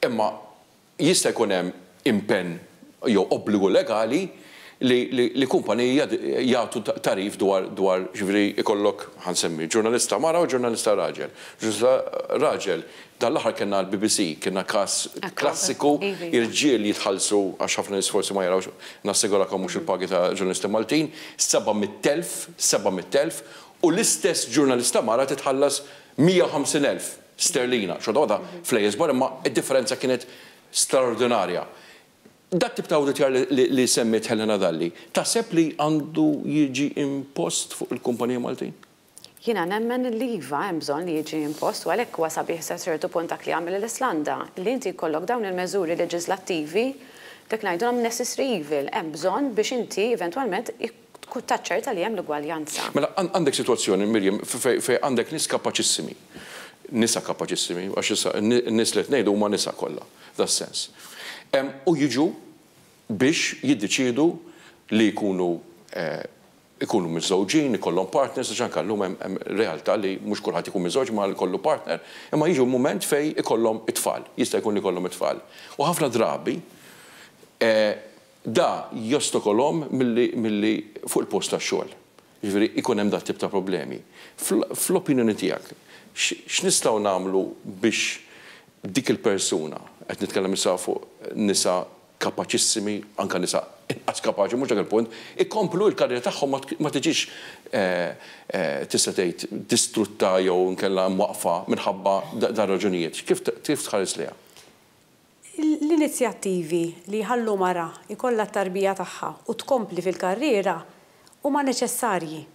Speaker 1: imma jista' jkun hemm impenn jew obbligu legali li kumpaniji jagħtu tagħrif dwar dwar ġifieri jkollok, ħa nsemmi, ġurnalista mara u ġurnalista raġel. Ġurnalista raġel, dan l-aħħar kellna l-BBC, kellna każ klassiku, irġiel jitħallsu, għax ħafna nies forsi ma jarawx, nassigurakom mhux il-pagi ta' ġurnalisti Maltin, 700,000, 700,000, u l-istess ġurnalista mara titħallas 150,000 sterlina. Xorta waħda flejjes kbar imma d-differenza kienet straordinarja. Dat-tip ta' awditjar li semmiet Helena Dalli, taħseb li għandu jiġi impost fuq il-kumpaniji Maltin?
Speaker 5: Jiena nemmen li iva hemm bżonn li jiġi impost u għalhekk huwa sabiħ sa ċertu punt dak li għamel l-Islanda, li inti jkollok dawn il-meżuri leġislattivi, dak ngħidulhom necessary evil, hemm bżonn biex inti eventwalment taċċerta li hemm l-ugwaljanza.
Speaker 1: Mela għandek sitwazzjoni, Miriam, fejn għandek nies kapaċissimi, nisa kapaċissimi, għax issa n-nies li qed ngħidu huma nisa kollha, f'das-sens. U jiġu biex jiddeċiedu li jkunu ikunu miżżewġin, ikollhom partners, għax anke llum hemm realtà li mhux kulħadd ikun miżżewġ imma jkollu partner, imma jiġu mument fejn ikollhom it-tfal, jista' jkun li jkollhom it-tfal. U ħafna drabi da jostokolhom milli milli fuq il-post tax-xogħol. Jiġifieri ikun hemm dat-tip ta' problemi. Fl-opinjoni tiegħek, x'nistgħu nagħmlu biex dik il-persuna, qed nitkellem issa fuq nisa kapaċissimi, anke nisa inqas kapaċi, mhux dak il-punt, ikomplu l-karriera tagħhom ma tiġix tista' tgħid distrutta jew inkella mwaqqfa minħabba dan raġunijiet. Kif tħares lejha?
Speaker 4: L-inizjattivi li jħallu mara jkollha t-tarbija tagħha u tkompli fil-karriera Huma neċessarji.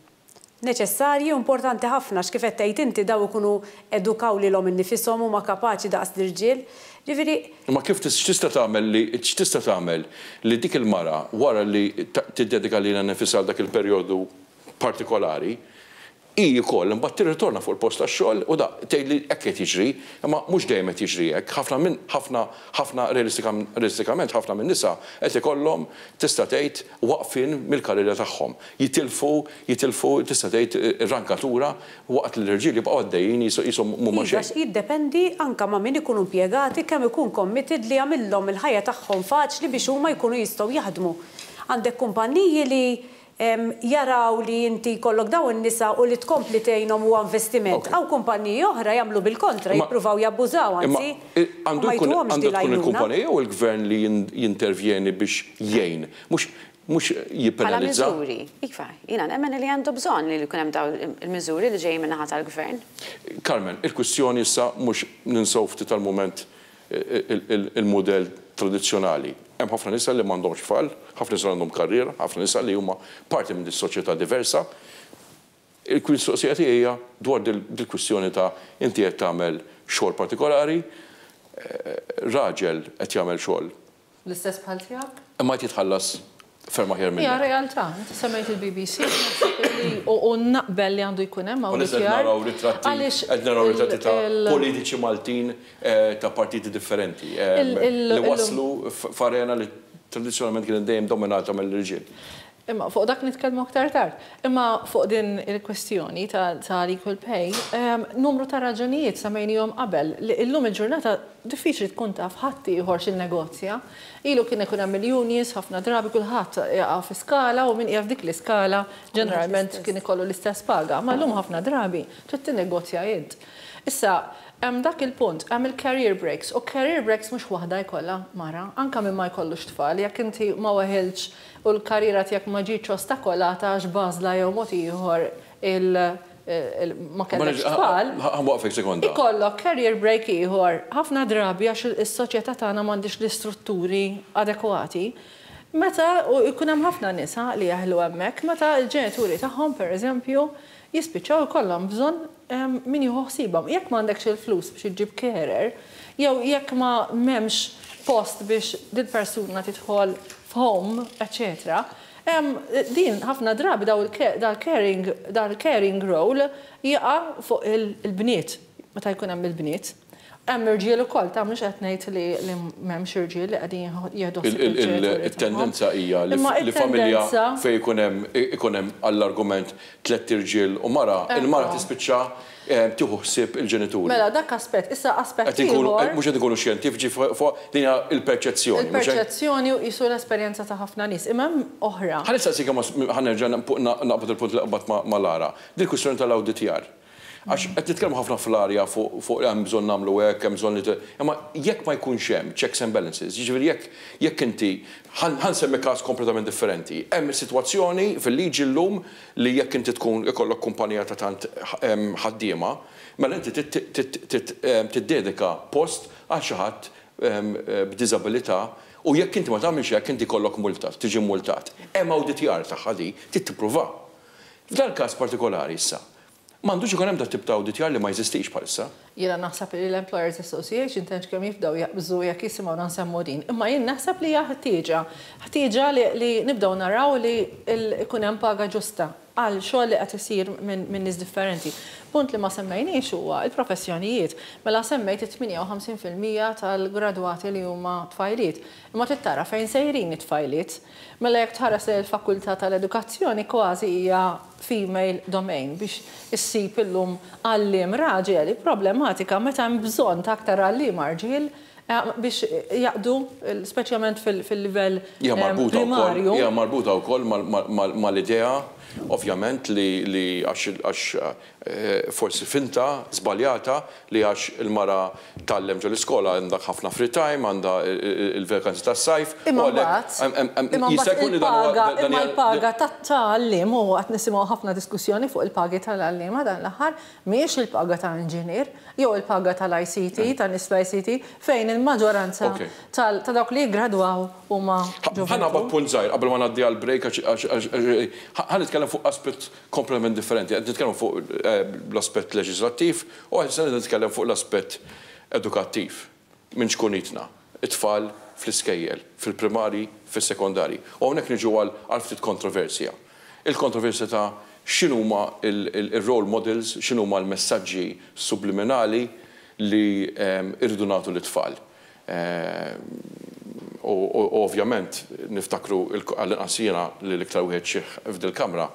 Speaker 4: Neċessarji u importanti ħafna għax kif qed tgħid inti dawn ikunu edukaw lilhom innifishom huma kapaċi daqs l-irġiel. Ġifieri.
Speaker 1: Imma kif x'tista' tagħmel li x'tista' tagħmel li dik il-mara wara li tiddedika lilha nnifisha għal dak il-perjodu partikolari, hi wkoll imbagħad tirritorna fuq il-post tax-xogħol u da tgħidli hekk qed jiġri, imma mhux dejjem qed jiġri hekk. Ħafna minn ħafna ħafna realistikament ħafna min-nisa qed ikollhom tista' tgħid waqfien mill-karriera tagħhom. Jitilfu jitilfu tista' tgħid ir-rankatura waqt li l-irġiel jibqgħu għaddejjin qishom m'huma
Speaker 4: Iva,
Speaker 1: xejn.
Speaker 4: għax jiddependi anke ma' min ikunu impjegati kemm ikun committed li jagħmillhom il-ħajja tagħhom faċli biex huma jkunu jistgħu jaħdmu. Għandek kumpanniji li jaraw li inti jkollok dawn in-nisa u li tkompli tgħinhom huwa investiment. Hawn kumpanniji oħra jagħmlu bil-kontra, jippruvaw jabbużaw anzi u ma jtuhomx din
Speaker 1: Għandu tkun
Speaker 4: l-għajnuna.
Speaker 1: il-kumpanija jew il-gvern li jintervjeni biex jgħin, mhux mhux
Speaker 5: Bħala
Speaker 1: jippenalizza.
Speaker 5: miżuri, iva, jiena nemmen li għandu bżonn li jkun hemm dawn il-miżuri li ġejjin min-naħa tal-gvern.
Speaker 1: Carmen, il-kwistjoni issa mhux ninsew ftit għall-mument il-mudell tradizzjonali. Hemm ħafna nisa li m'għandhomx tfal, ħafna nisa li għandhom karriera, ħafna nisa li huma parti minn dis-soċjetà diversa. Il-mistoqsija tiegħi hija dwar dil-kwistjoni ta' inti qed tagħmel xogħol partikolari, raġel qed jagħmel xogħol.
Speaker 3: L-istess bħal tiegħek?
Speaker 1: Imma qed jitħallas ferm aħjar minnek.
Speaker 3: Hija realtà. Inti semmejt il-BBC, naħseb li u naqbel li għandu jkun hemm
Speaker 1: awditjar. Qed naraw ritratti, qed naraw ritratti ta' politiċi Maltin ta' partiti differenti li waslu f'arena li tradizzjonalment kienet dejjem dominata mill-irġiel.
Speaker 3: Imma fuq dak nitkellmu aktar tard. Imma fuq din il-kwestjoni tal-equal pay, numru ta' raġunijiet semmejnihom qabel li illum il-ġurnata diffiċli tkun taf ħaddieħor x'innegozja. Ilu kien ikun hemm il-unions ħafna drabi kulħadd jaqa' fi skala u min qiegħed f'dik l-iskala ġeneralment kien ikollu l-istess paga. Ma llum ħafna drabi trid tinnegozja int. Issa, hemm dak il-punt, hemm il-career breaks u career breaks mhux waħda jkollha mara, anke min ma jkollux tfal, jekk inti ma weħiltx u l-karriera tiegħek ma ġietx ostakolata għax b'għażla jew mod ieħor il ma kellekx tfal.
Speaker 1: Ħa nwaqqfek sekonda.
Speaker 3: Ikollok career break ieħor ħafna drabi għax is-soċjetà tagħna m'għandhiex l-istrutturi adekwati. Meta, u jkun hemm ħafna nisa li jeħlu hemmhekk, meta l-ġenituri tagħhom pereżempju jispiċċaw ikollhom bżonn min jieħu ħsiebhom. Jekk m'għandekx il-flus biex iġġib carer, jew jekk ma m'hemmx post biex dil-persuna tidħol f'home, eċċetera, din ħafna drabi dal-caring dal-caring role jaqa' fuq il-bniet, meta jkun hemm il-bniet. Hemm irġiel ukoll, ta' mhux qed ngħid li li m'hemmx irġiel li qegħdin jieħdu ħsieb il-ġenituri tagħhom.
Speaker 1: It-tendenza hija li familja fejn ikun hemm ikun hemm għall-argument tlett irġiel u mara, il-mara tispiċċa tieħu ħsieb il-ġenituri.
Speaker 3: Mela dak aspett, issa aspett ieħor.
Speaker 1: Mhux qed inkunu xjentifiċi fuq din hija l-perċezzjoni.
Speaker 3: Il-perċezzjoni u qisu l-esperjenza ta' ħafna nies, imma hemm oħra.
Speaker 1: Ħa nistaqsik imma ħa nerġa' naqbad il-punt li qbadt ma' Lara. Din il-kwistjoni tal-awditjar. Għax qed nitkellmu ħafna fl-arja fuq fuq hemm bżonn nagħmlu hekk, hemm bżonn li imma jekk ma jkunx hemm checks and balances, jiġifieri jekk jekk inti ħa nsemmi każ kompletament differenti. Hemm sitwazzjoni fil-liġi llum li jekk inti tkun ikollok kumpanija ta' tant ħaddiema, mela inti trid tiddedika post għal xi ħadd b'diżabilità u jekk inti ma tagħmilx hekk inti jkollok multa, tiġi mmultat. Hemm awditjar tagħha di, trid tippruvha. F'dal-każ partikolari issa, M'għandux ikun hemm dat-tip ta' awditjar li ma jeżistix bħalissa.
Speaker 3: Jiena naħseb li l-Employers Association tantx kemm jibdew jaqbżu jekk jisimgħuna nsemmu din. Imma jien naħseb li hija ħtieġa. Ħtieġa li nibdew naraw li jkun hemm paga ġusta għal xogħol li qed isir minn nies differenti. Punt li ma semmejniex huwa l-professjonijiet. Mela semmejt it-58% tal-gradwati li huma tfajliet. Imma trid tara fejn sejrin it-tfajliet. Mela jekk tħares lejn il-fakultà tal-edukazzjoni kważi hija female domain biex issib illum għalliem raġel hi problematika meta hemm bżonn ta' aktar għalliema rġiel biex jaqdu speċjalment fil-livell primarju.
Speaker 1: Hija marbuta wkoll mal-idea ovvjament li għax forsi finta żbaljata li għax il-mara tgħallem ġol-iskola għandha ħafna free time, għandha l-vacanzi tas-sajf.
Speaker 3: Imma mbagħad, imma mbagħad il-paga, imma l-paga tat-tgħallim, u qed nisimgħu ħafna diskussjoni fuq il-pagi tal-għalliema dan l-aħħar, mhijiex il-paga ta' inġinier jew il-paga tal-ICT, ta' nies fl-ICT, fejn il-maġġoranza ta' dawk li jiggradwaw huma
Speaker 1: Ħa naqbad punt żgħir qabel ma ngħaddi għall-break għax ħa nitkellmu. nitkellem fuq aspett kompletament differenti, qed nitkellem fuq l-aspett leġislattiv u issa qed nitkellem fuq l-aspett edukattiv minn ċkunitna, it-tfal fl-iskejjel, fil-primarji, fis-sekondarji. U hawnhekk niġu għal ftit kontroversja. Il-kontroversja ta' x'inhuma il-role models, x'inhuma l-messaġġi subliminali li rridu nagħtu lit-tfal. U ovvjament niftakru, għall-inqas jiena li l-iktar wieħed xiħ f'dil-kamra,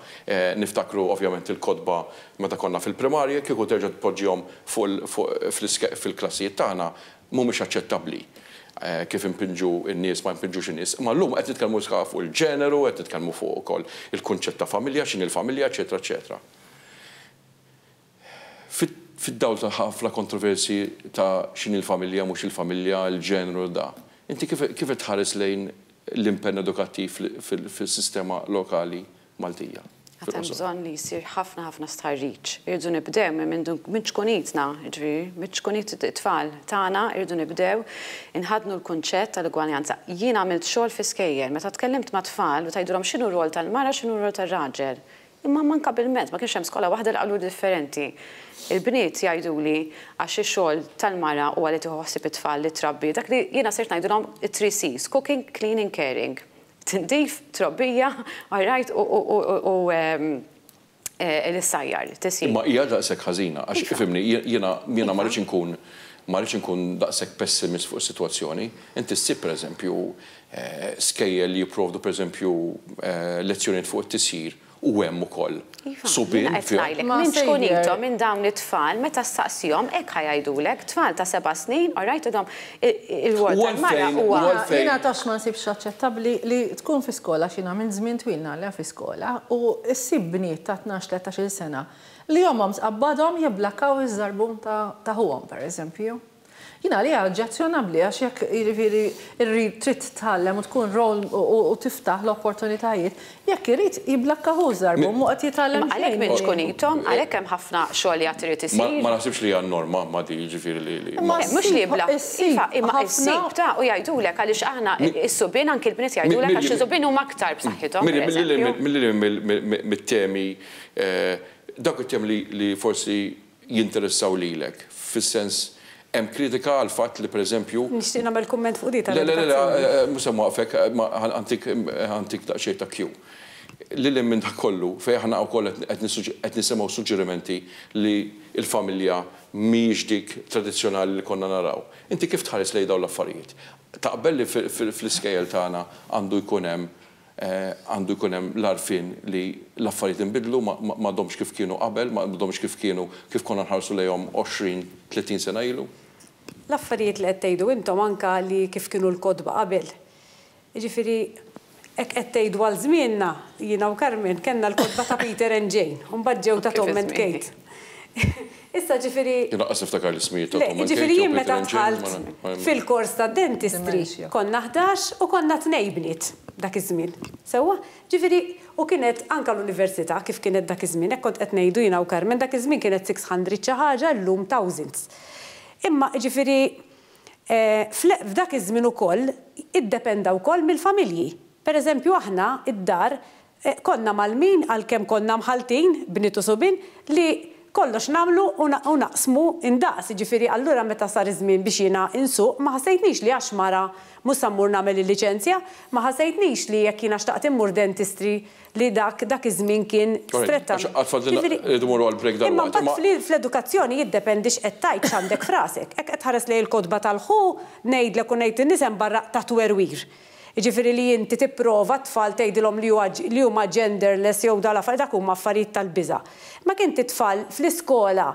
Speaker 1: niftakru ovvjament il-kotba meta konna fil-primarja, kieku terġa' tpoġġihom fil-klassijiet tagħna, mhumiex aċċettabbli kif impinġu n-nies ma jpinġux in-nies. Imma llum qed nitkellmu fuq il-ġeneru, qed nitkellmu fuq ukoll il-kunċett ta' familja, x'inhi l-familja, eċetera, eċetera. Fid-dawl ta' ħafna kontroversji ta' x'inhi l-familja, mhux il-familja, il-ġeneru da. Inti kif tħares lejn l-impenn edukattiv fil-sistema lokali Maltija?
Speaker 5: Għad hemm bżonn li jsir ħafna ħafna stħarriġ. Irridu nibdew minn ċkunitna, ġifieri, minn ċkunit it-tfal tagħna irridu nibdew inħaddnu l-kunċett tal-ugwaljanza. Jien għamilt xogħol fi skejjel, meta tkellimt ma' tfal u tgħidulhom x'inhu r-rol tal-mara, x'inhu r-rol tar-raġel. Imma manka bil-mezz, ma kienx hemm skola waħda li qalu differenti. Il-bniet jgħiduli għax ix-xogħol tal-mara huwa li tieħu ħsieb it-tfal li trabbi, dak li jiena sirt ngħidulhom it-three C's, cooking, cleaning, caring. Tindif, trobbija, all right, u l-issajjar, tisjir.
Speaker 1: Imma hija daqshekk ħażina, għax ifhimni, jiena jiena ma rridx inkun ma rridx inkun daqshekk pessimist fuq is-sitwazzjoni. Inti ssib pereżempju skejjel li jipprovdu pereżempju lezzjonijiet fuq it-tisjir u hemm ukoll subien
Speaker 5: Jiena qed ngħidlek, minn ċkunithom, minn dawn it-tfal, meta ssaqsihom hekk ħa jgħidulek, tfal ta' 7 snin, all right, għidhom ir-rwol tal-mara huwa.
Speaker 3: Jiena tafx ma nsibx aċċettabbli li tkun fi skola, għax jiena għamilt żmien twil ngħallem fi skola, u ssib bniet ta' 12, 13-il sena li ommhom tqabbadhom jibblakkaw iż-żarbun ta' ħuhom, pereżempju. Jien għalija oġġezzjonabbli għax jekk jiġifieri rrid trid titgħallem u tkun role u tiftaħ l-opportunitajiet, jekk irid jibblakka hu ż-żarbun mhu qed jitgħallem
Speaker 5: Imma għalhekk
Speaker 3: xejn.
Speaker 5: minn ċkunithom, għalhekk hemm ħafna xogħol li għad irid isir.
Speaker 1: Ma naħsibx li hija n-norma ma di jiġifieri li li.
Speaker 3: Imma
Speaker 5: Le, mhux li
Speaker 3: ssib
Speaker 5: jibblakk,
Speaker 3: issib
Speaker 5: iva, imma
Speaker 3: ħafna.
Speaker 5: issib ta' u jgħidulek għaliex aħna is-subien anki l-bniet jgħidulek għax is-subien huma aktar b'saħħithom pereżempju.
Speaker 1: Milli mit-temi dawk it-temi li forsi jinteressaw lilek, fis-sens hemm kritika għall-fatt li pereżempju.
Speaker 4: Nixtieq nagħmel kumment fuq di
Speaker 1: Le, le, le,
Speaker 4: tal-edukazzjoni.
Speaker 1: le, mhux se nwaqqfek, ma ħa ntik daqsxejn ta' cue. Lil hinn minn dak kollu, fejn aħna wkoll qed nisimgħu suġġerimenti li l-familja mhijiex dik tradizzjonali li konna naraw. Inti kif tħares lejn dawn l-affarijiet? Taqbel li fl-iskejjel tagħna għandu jkun hemm għandu jkun hemm l-għarfien li l-affarijiet inbidlu, m'għadhomx kif kienu qabel, m'għadhomx kif kienu kif konna nħarsu lejhom 20, 30 sena ilu?
Speaker 4: L-affarijiet li qed tgħidu intom anka li kif kienu l-kotba qabel. Jiġifieri hekk qed tgħidu għal żmienna, jiena u Carmen kellna l-kotba ta' Peter and Jane, u mbagħad ġew ta' Tom and Kate. Issa ġifieri.
Speaker 1: Jien lanqas niftakar l-ismijiet ta'
Speaker 4: Le,
Speaker 1: Tom and Kate
Speaker 4: jiġifieri
Speaker 1: jew
Speaker 4: jien
Speaker 1: Peter
Speaker 4: meta
Speaker 1: and Jane,
Speaker 4: dħalt
Speaker 1: ma
Speaker 4: fil-kors tad-dentistry
Speaker 3: Dementia.
Speaker 4: konna 11 u konna tnejn bniet dak iż-żmien. Sewwa? Ġifieri u kienet anke l-università kif kienet dak iż-żmien, hekk kont qed ngħidu jiena u Carmen, dak iż-żmien kienet 600 xi ħaġa, illum thousands. Imma jiġifieri f'dak iż-żmien ukoll iddependa wkoll mill-familji. Per eżempju aħna id-dar konna mgħallmin għalkemm konna mħalltin, bniet u subien, li kollox nagħmlu u naqsmu indaqs, jiġifieri allura meta sar iż-żmien biex jiena insuq ma ħassejtnix li għax mara mhux sa mmur nagħmel il-liċenzja, ma ħassejtnix li jekk jiena xtaqt immur dentistry li dak dak iż-żmien kien stretta.
Speaker 1: Għax fadlilna
Speaker 4: Jiġifieri
Speaker 1: rridu mmorru għal break
Speaker 4: imma
Speaker 1: dalwaqt,
Speaker 4: mbagħad
Speaker 1: imma
Speaker 4: fl-edukazzjoni jiddependi x'qed tgħid x'għandek f'rasek. Hekk qed tħares lejn il-kotba tal-ħu ngħidlek u ngħid in-nies hemm barra ta' twerwir. Jiġifieri li inti tipprova t-tfal tgħidilhom li huwa li huma genderless jew dal affarijiet dak huma affarijiet tal-biża'. Ma kien t-tfal fl-iskola.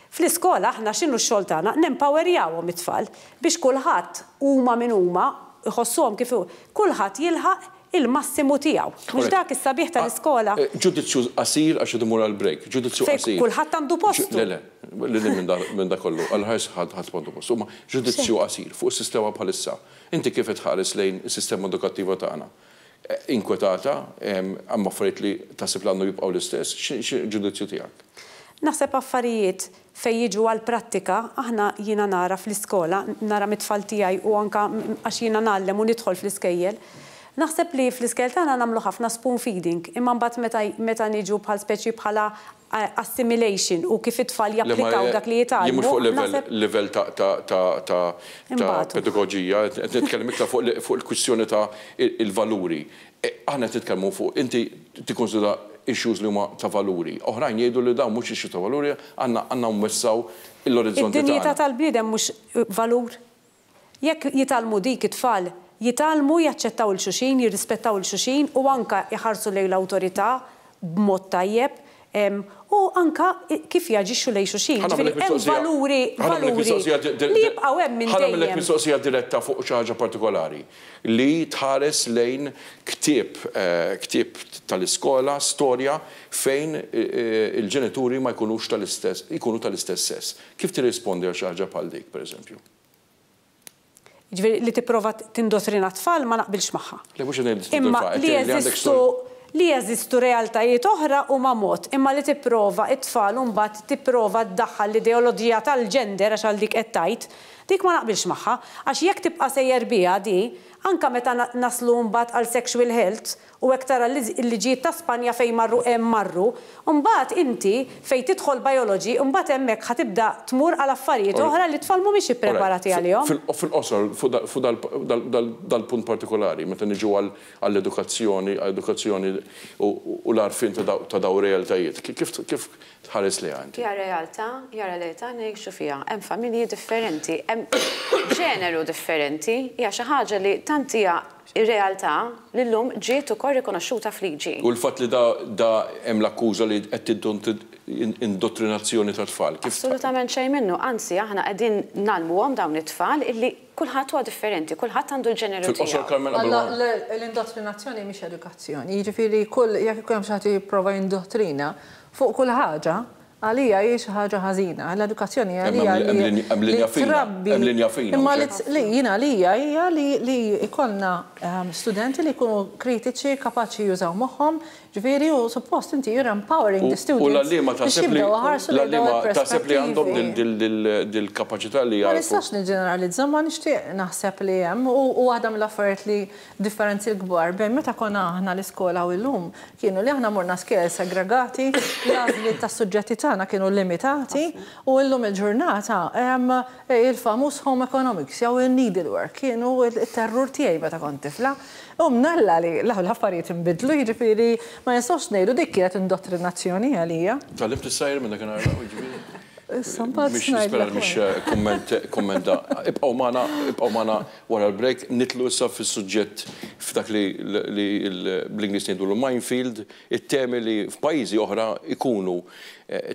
Speaker 4: Fl-iskola aħna x'inhu x-xogħol tagħna? Nempowerjawhom it-tfal biex kulħadd huma min huma jħossuhom kif kulħadd jilħaq il-massimu tiegħu. Mhux dak is-sabiħ tal-iskola.
Speaker 1: Ġudizzju qasir għax irid imur għall-break. Ġudizzju
Speaker 4: Fejn
Speaker 1: qasir.
Speaker 4: kulħadd għandu postu.
Speaker 1: Le, le, lil hinn minn dak kollu, għal ħares ħadd għandu postu. Ma ġudizzju qasir fuq is-sistema bħalissa. Inti kif tħares lejn is-sistema edukattiva tagħna? Inkwetata, hemm affarijiet li taħseb li għandu jibqgħu l-istess, xi ġudizzju tiegħek?
Speaker 4: Naħseb affarijiet fejn jiġu għall-prattika, aħna jiena nara fl-iskola, nara mit-tfal tiegħi u anka għax jiena ngħallem u nidħol fl-iskejjel, Naħseb li fl-iskejjel tagħna nagħmlu ħafna spoon feeding, imma mbagħad meta meta niġu bħal speċi bħala assimilation u kif it-tfal japplikaw dak li
Speaker 1: jien mhux
Speaker 4: jitgħallmu,
Speaker 1: fuq livell
Speaker 4: naħseb
Speaker 1: livell ta' ta' ta' ta' ta'
Speaker 4: inbatu.
Speaker 1: pedagoġija, qed nitkellem iktar fuq fuq il-kwistjoni ta' il-valuri. Aħna qed nitkellmu fuq inti tikkunsidra issues li huma ta' valuri. Oħrajn jgħidu li dawn mhux issues ta' valuri, għandna għandna nwessgħu l-orizzonti
Speaker 4: Id-dinjità
Speaker 1: tagħna.
Speaker 4: tal-bniedem mhux valur? Jekk jitgħallmu dik it-tfal, jitgħallmu jaċċettaw 'il xulxin, jirrispettaw 'il xulxin u anke jħarsu lejn l-awtorità b'mod tajjeb u anke kif jaġixxu lejn xulxin.
Speaker 1: Ħa
Speaker 4: Jiġifieri
Speaker 1: nagħmellek
Speaker 4: hemm
Speaker 1: mistoqsija,
Speaker 4: valuri
Speaker 1: ħa nagħmellek
Speaker 4: valuri
Speaker 1: mistoqsija
Speaker 4: li jibqgħu hemm minn
Speaker 1: ħa nagħmellek
Speaker 4: dejjem.
Speaker 1: mistoqsija diretta fuq xi ħaġa partikolari li tħares lejn ktieb ktieb tal-iskola, storja fejn il-ġenituri ma jkunux tal-istess, ikunu tal-istess sess. Kif tirrispondi għal xi ħaġa bħal dik, pereżempju?
Speaker 4: Jiġifieri li tipprova tindottrina t-tfal ma naqbilx magħha.
Speaker 1: Le mhux qed ngħid li
Speaker 4: Imma
Speaker 1: tindottrina, qed
Speaker 4: li
Speaker 1: ngħid li għandek
Speaker 4: jeżistu li jeżistu realtajiet oħra huma mod, imma li tipprova t-tfal u mbagħad tipprova ddaħħal l-ideoloġija tal-gender għax għal dik qed tgħid, dik ma naqbilx magħha. Għax jekk tibqa' sejjer biha di, anke meta naslu mbagħad għal sexual health u hekk tara l-liġijiet ta' Spanja fejn marru hemm marru, mbagħad inti fejn tidħol biology mbagħad hemmhekk ħa tibda tmur għal affarijiet oħra li t-tfal mhumiex ippreparati għalihom.
Speaker 1: Fil-qosor fuq dal-punt partikolari, meta niġu għall-edukazzjoni, għall-edukazzjoni u l-għarfien ta' dawn realtajiet, kif tħares lejha inti?
Speaker 5: Hija realtà, hija realtà ngħixu fiha. Hemm familji differenti, hemm ġeneru differenti, hija xi ħaġa li tant hija ir-realtà li llum ġiet ukoll rikonoxxuta f'liġi.
Speaker 1: U l-fatt li da da hemm l-akkuża li qed indottrinazzjoni tat-tfal, kif
Speaker 5: Assolutament xejn minnu, anzi aħna qegħdin ngħallmuhom dawn it-tfal illi kulħadd huwa differenti, kulħadd għandu l-ġeneru
Speaker 1: Fil-qosor
Speaker 5: tiegħu.
Speaker 1: Carmen qabel
Speaker 3: Alla,
Speaker 1: ma
Speaker 3: l-indottrinazzjoni mhix edukazzjoni. Jiġifieri kull jekk ikun hemm xi ħadd jipprova jindottrina fuq kull ħaġa, għalija hi xi ħaġa ħażina. L-edukazzjoni għalija
Speaker 1: Hemm
Speaker 3: li
Speaker 1: linja fina,
Speaker 3: trabbi.
Speaker 1: hemm linja fina,
Speaker 3: Imma
Speaker 1: mhux hekk?
Speaker 3: li jien għalija hija li jkollna studenti li jkunu kritiċi, kapaċi jużaw moħħhom, ġifieri u suppost inti you're empowering the
Speaker 1: U
Speaker 3: students
Speaker 1: l-għalliema
Speaker 3: biex
Speaker 1: taħseb li
Speaker 3: jibdew iħarsu lejn dawn
Speaker 1: l-għalliema taħseb li għandhom
Speaker 3: il-perspettivi.
Speaker 1: dil-kapaċità li
Speaker 3: Ma
Speaker 1: jagħrfu.
Speaker 3: nistax niġġeneralizza, ma nixtieq naħseb li hemm u waħda mill-affarijiet li differenzi l-kbar bejn meta konna aħna l-iskola u llum kienu li aħna morna skejjel segregati, l-għażliet tas-suġġetti tagħna kienu limitati u llum il-ġurnata hemm il-famuż home economics jew il-needlework kienu il-terrur tiegħi meta kont tifla. U mnalla li l-affarijiet inbidlu, jiġifieri ma nistgħux ngħidu dik kienet indottrinazzjoni għalija.
Speaker 1: Tgħallimt issajr minn dakinhar jiġifieri?
Speaker 3: Issa mbagħad
Speaker 1: Mhix nispera
Speaker 3: ngħidlek
Speaker 1: mhix
Speaker 3: wara.
Speaker 1: kumment kumment da. Ibqgħu magħna, ibqgħu magħna wara l-break, nidħlu issa fis-suġġett f'dak li li bl-Ingliż ngħidulu minefield, it-temi li f'pajjiżi oħra ikunu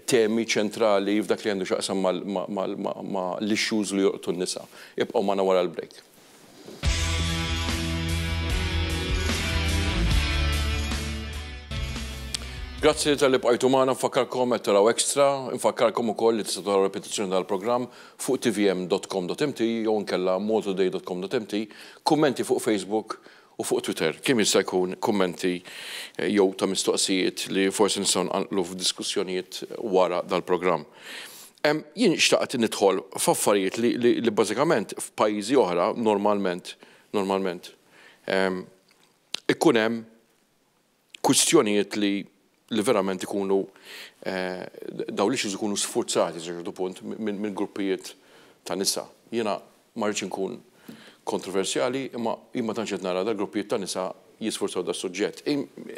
Speaker 1: temi ċentrali f'dak li għandu x'jaqsam ma' l-issues li jolqtu n-nisa. Ibqgħu magħna wara l-break. Grazzi talli bqajtu magħna, nfakkarkom qed taraw Extra, nfakkarkom ukoll li tistgħu taraw repetizzjoni tal-programm fuq tvm.com.mt jew inkella maltoday.com.mt, kummenti fuq Facebook u fuq Twitter. Kemm jista' jkun kummenti jew ta' mistoqsijiet li forsi nistgħu nqanqlu f'diskussjonijiet wara dal-programm. Jien xtaqt nidħol f'affarijiet li, li, li bażikament f'pajjiżi oħra normalment normalment ikun hemm kwistjonijiet li li verament ikunu daw l-issues ikunu sfurzati sa ċertu punt minn min gruppijiet ta' nisa. Jiena ma rridx inkun kontroversjali, imma jien ma tantx qed nara dal gruppijiet ta' nisa jisfurzaw da suġġett.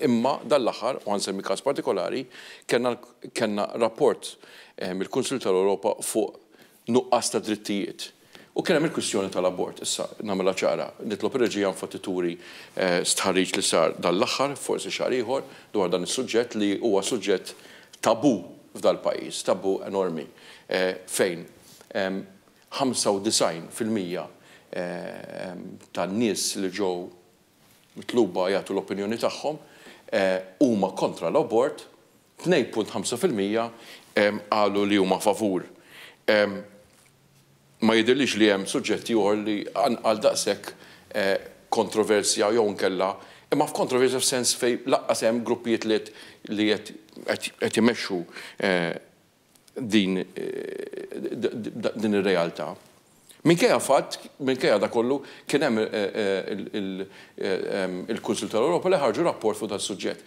Speaker 1: Imma dal-aħħar, u ħa nsemmi każ partikolari, kellna rapport mill-Kunsill tal-Ewropa fuq nuqqas ta' drittijiet. U kien hemm il-kwistjoni tal-abort, issa nagħmilha ċara, nitlob ir-reġija infatti turi stħarriġ li sar dal-aħħar, forsi xahar ieħor, dwar dan is-suġġett li huwa suġġett tabu f'dal-pajjiż, tabu enormi, fejn 95% tan-nies li ġew mitluba jagħtu l-opinjoni tagħhom huma kontra l-abort, 2.5% qalu li huma favur. Ma jidhirlix li hemm suġġetti ieħor li għal daqshekk kontroversja jew nkella, imma f'kontroversja f'sens fej laqqas hemm gruppijiet li li qed imexxu din din ir-realtà. Minkejja fatt, minkejja da kollu, kien hemm il-Kunsill tal-Ewropa li ħarġu rapport fuq das-suġġett.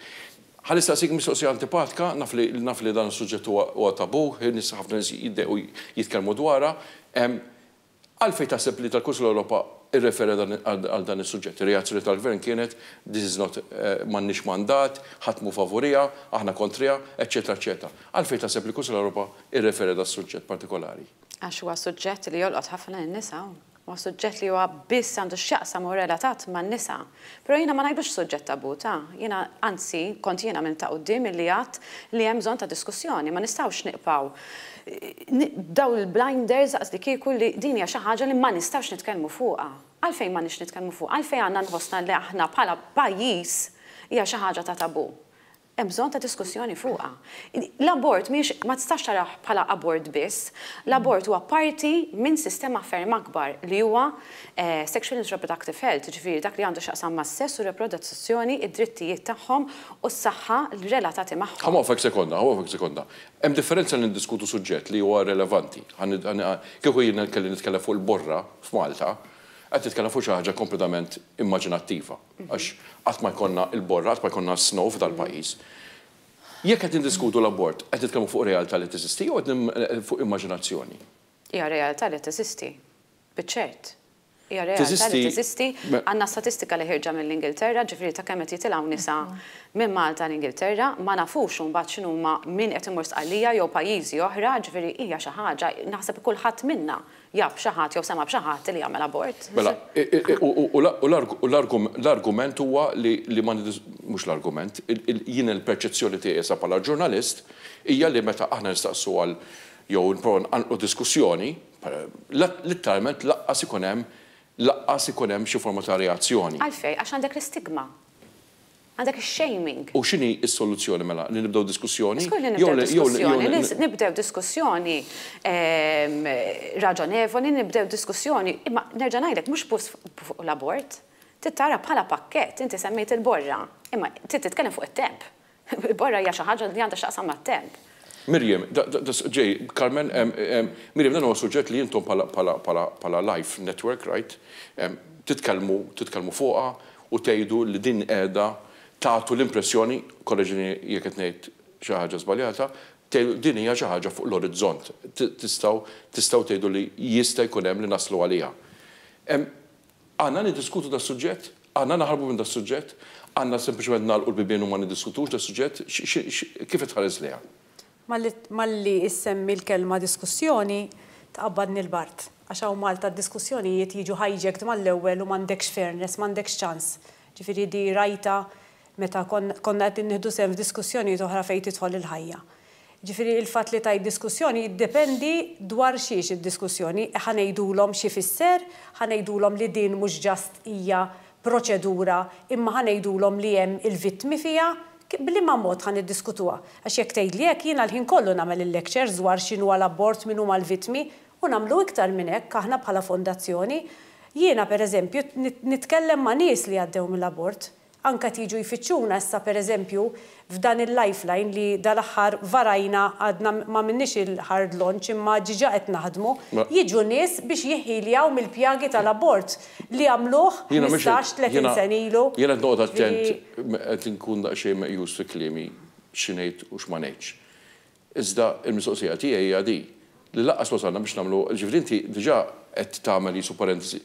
Speaker 1: Ħa nistaqsik mistoqsija antipatika, naf li naf li dan is-suġġett huwa tabu, nies ħafna nies jiddejqu jitkellmu dwarha. Għalfejn taħseb li tal-Kunsill tal-Ewropa rrefera għal dan is-suġġett? Ir-reazzjoni tal-Gvern kienet this is not m'għandniex mandat, ħadd mhu favuriha, aħna kontriha, eċċetera eċċetera. Għalfejn taħseb li l-Kunsill tal-Ewropa rrefera das-suġġett partikolari?
Speaker 5: Għax huwa suġġett li jolqot ħafna lin-nisa. Huwa suġġett li huwa biss għandu x'jaqsam u relatat man-nisa. Però jiena ma ngħidlux suġġett tabù, ta. Jiena, anzi, kont jiena minn ta' quddiem illi għedt li hemm bżonn ta' diskussjoni. Ma nistgħux nibqgħu b'dawn il-blinders daqslikieku li din hija xi ħaġa li ma nistgħux nitkellmu fuqha. Għalfejn m'għandniex nitkellmu fuqha? Għalfejn għandna nħossna li aħna bħala pajjiż hija xi ħaġa ta' tabù? Hemm bżonn ta' diskussjoni fuqha. L-abort mhijiex, ma tistax tarah bħala abort biss. L-abort huwa parti minn sistema ferm akbar li huwa sexual and reproductive health, jiġifieri dak li għandu x'jaqsam mas-sess u r-reproduzzjoni, id-drittijiet tagħhom u s-saħħa relatati magħhom.
Speaker 1: Ħa nwaqqfek sekonda, ħa nwaqqfek sekonda. Hemm differenza li niddiskutu suġġett li huwa relevanti. Kieku jiena kelli nitkellem fuq il-borra f'Malta, qed nitkellem fuq xi ħaġa kompletament immaġinattiva. Għax qatt ma jkollna l-borra, qatt ma jkollna s-snow f'dal-pajjiż. Jekk qed niddiskutu l-abort, qed nitkellmu fuq realtà li teżisti jew qed fuq immaġinazzjoni?
Speaker 5: Hija realtà li teżisti, biċ-ċert. Hija realtà li teżisti. Għandna statistika li ħierġa mill-Ingilterra, ġifieri ta' kemm qed jitilgħu nisa minn Malta l-Ingilterra, ma nafux imbagħad x'inhuma min qed imur Sqallija jew pajjiżi oħra, ġifieri hija xi ħaġa, naħseb kulħadd minna jaf xi ħadd jew sema' b'xi ħadd li jagħmel abort.
Speaker 1: Mela, u l-argument huwa li ma mhux l-argument, jien il-perċezzjoni tiegħi issa bħala ġurnalist hija li meta aħna nistaqsu għal jew nipprovaw nqanqlu diskussjoni, litteralment laqqas ikun hemm laqqas ikun hemm xi forma ta' reazzjoni.
Speaker 5: Għalfejn? Għax għandek l-istigma. Għandek ix-shaming.
Speaker 1: U x'inhi s-soluzzjoni mela? Li nibdew diskussjoni?
Speaker 5: Żgur li nibdew diskussjoni. Li nibdew diskussjoni raġonevoli, nibdew diskussjoni, imma nerġa' ngħidlek mhux biss fuq l-abort. Trid tara bħala pakkett, inti semmejt il-borra, imma trid titkellem fuq it-temp. Il-borra hija xi ħaġa li għandha x'taqsam mat-temp.
Speaker 1: Miriam, ġej, Carmen, Miriam, dan huwa suġġett li intom bħala Life Network, right, titkellmu, titkellmu fuqha u tgħidu li din qiegħda tagħtu l-impressjoni, korreġini jekk qed ngħid xi ħaġa żbaljata, tgħidu din hija xi ħaġa fuq l-orizzont. Tistgħu tistgħu tgħidu li jista' jkun hemm li naslu għaliha. Għandna niddiskutu das-suġġett? Għandna naħarbu minn das-suġġett? Għandna sempliċement nagħlqu l-bibien u ma niddiskutux das-suġġett? Kif qed tħares lejha?
Speaker 4: Malli issemmi l-kelma diskussjoni, tqabbadni l-bard. Għax hawn Malta d-diskussjonijiet jiġu hijacked mal-ewwel u m'għandekx fairness, m'għandekx ċans. Ġifieri di rajtha meta konna qed nieħdu sehem f'diskussjonijiet oħra fejn tidħol il-ħajja. Ġifieri il-fatt li tgħid diskussjoni jiddependi dwar xiex id-diskussjoni. Ħa ngħidulhom x'ifisser, ħa ngħidulhom li din mhux just hija proċedura imma ħa ngħidulhom li hemm il-vittmi fiha, B'liema mod ħa niddiskutuha? Għax jekk tgħidli hekk jiena l-ħin kollu nagħmel il-lectures dwar x'inhuwa l-abort, min huma l-vittmi, u nagħmlu iktar minn hekk aħna bħala fondazzjoni. Jiena per eżempju nitkellem ma' nies li għaddew mill-abort. Anke qed jiġu jfittxuna issa per eżempju f'dan il-lifeline li dal-aħħar varajna għadna m'għamilniex il-hard launch imma ġiġa qed naħdmu, jiġu nies biex jiħħiljaw mill-pjagi tal-abort li għamluh 15, 30 sena ilu.
Speaker 1: Jiena qed noqgħod attent Qed inkun daqsxejn meqjus fi kliemi xi ngħid u x'ma ngħidx. Iżda l-mistoqsija tiegħi hija di, li lanqas wasalna biex nagħmlu, jiġifieri inti diġà qed tagħmel qisu parentesi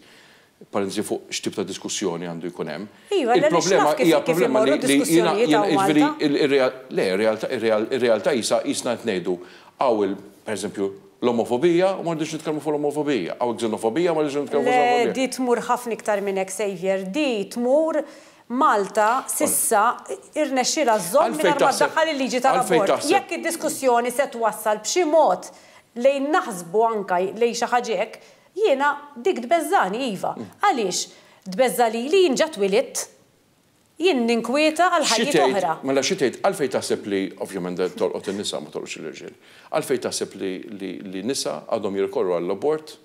Speaker 1: parentesi fuq x'tip ta' diskussjoni għandu jkun hemm.
Speaker 4: Iva, għaliex naf kif kif imorru d-diskussjonijiet hawn Malta.
Speaker 1: Le, ir-realtà qisha qisna qed ngħidu hawn il, pereżempju, l-omofobija u ma rridux nitkellmu fuq l-omofobija, hawn il-xenofobija u ma rridux nitkellmu fuq
Speaker 4: il-xenofobija. Le, di tmur ħafna iktar minn hekk, Saviour, di tmur Malta s'issa irnexxielha żżomm mingħajr ma ddaħħal il-liġi tal-abort. Jekk id-diskussjoni se twassal b'xi mod lejn naħsbu anke lejn xi ħaġa hekk, jiena dik tbeżżagħni iva. Għaliex tbeżża' lili jien ġa twilidt. Jien ninkwieta għal ħajjiet oħra.
Speaker 1: Mela xi tgħid, għalfejn taħseb li, ovvjament tolqot in-nisa ma tolqotx l-irġiel, għalfejn taħseb li nisa għadhom jirrikorru għall-abort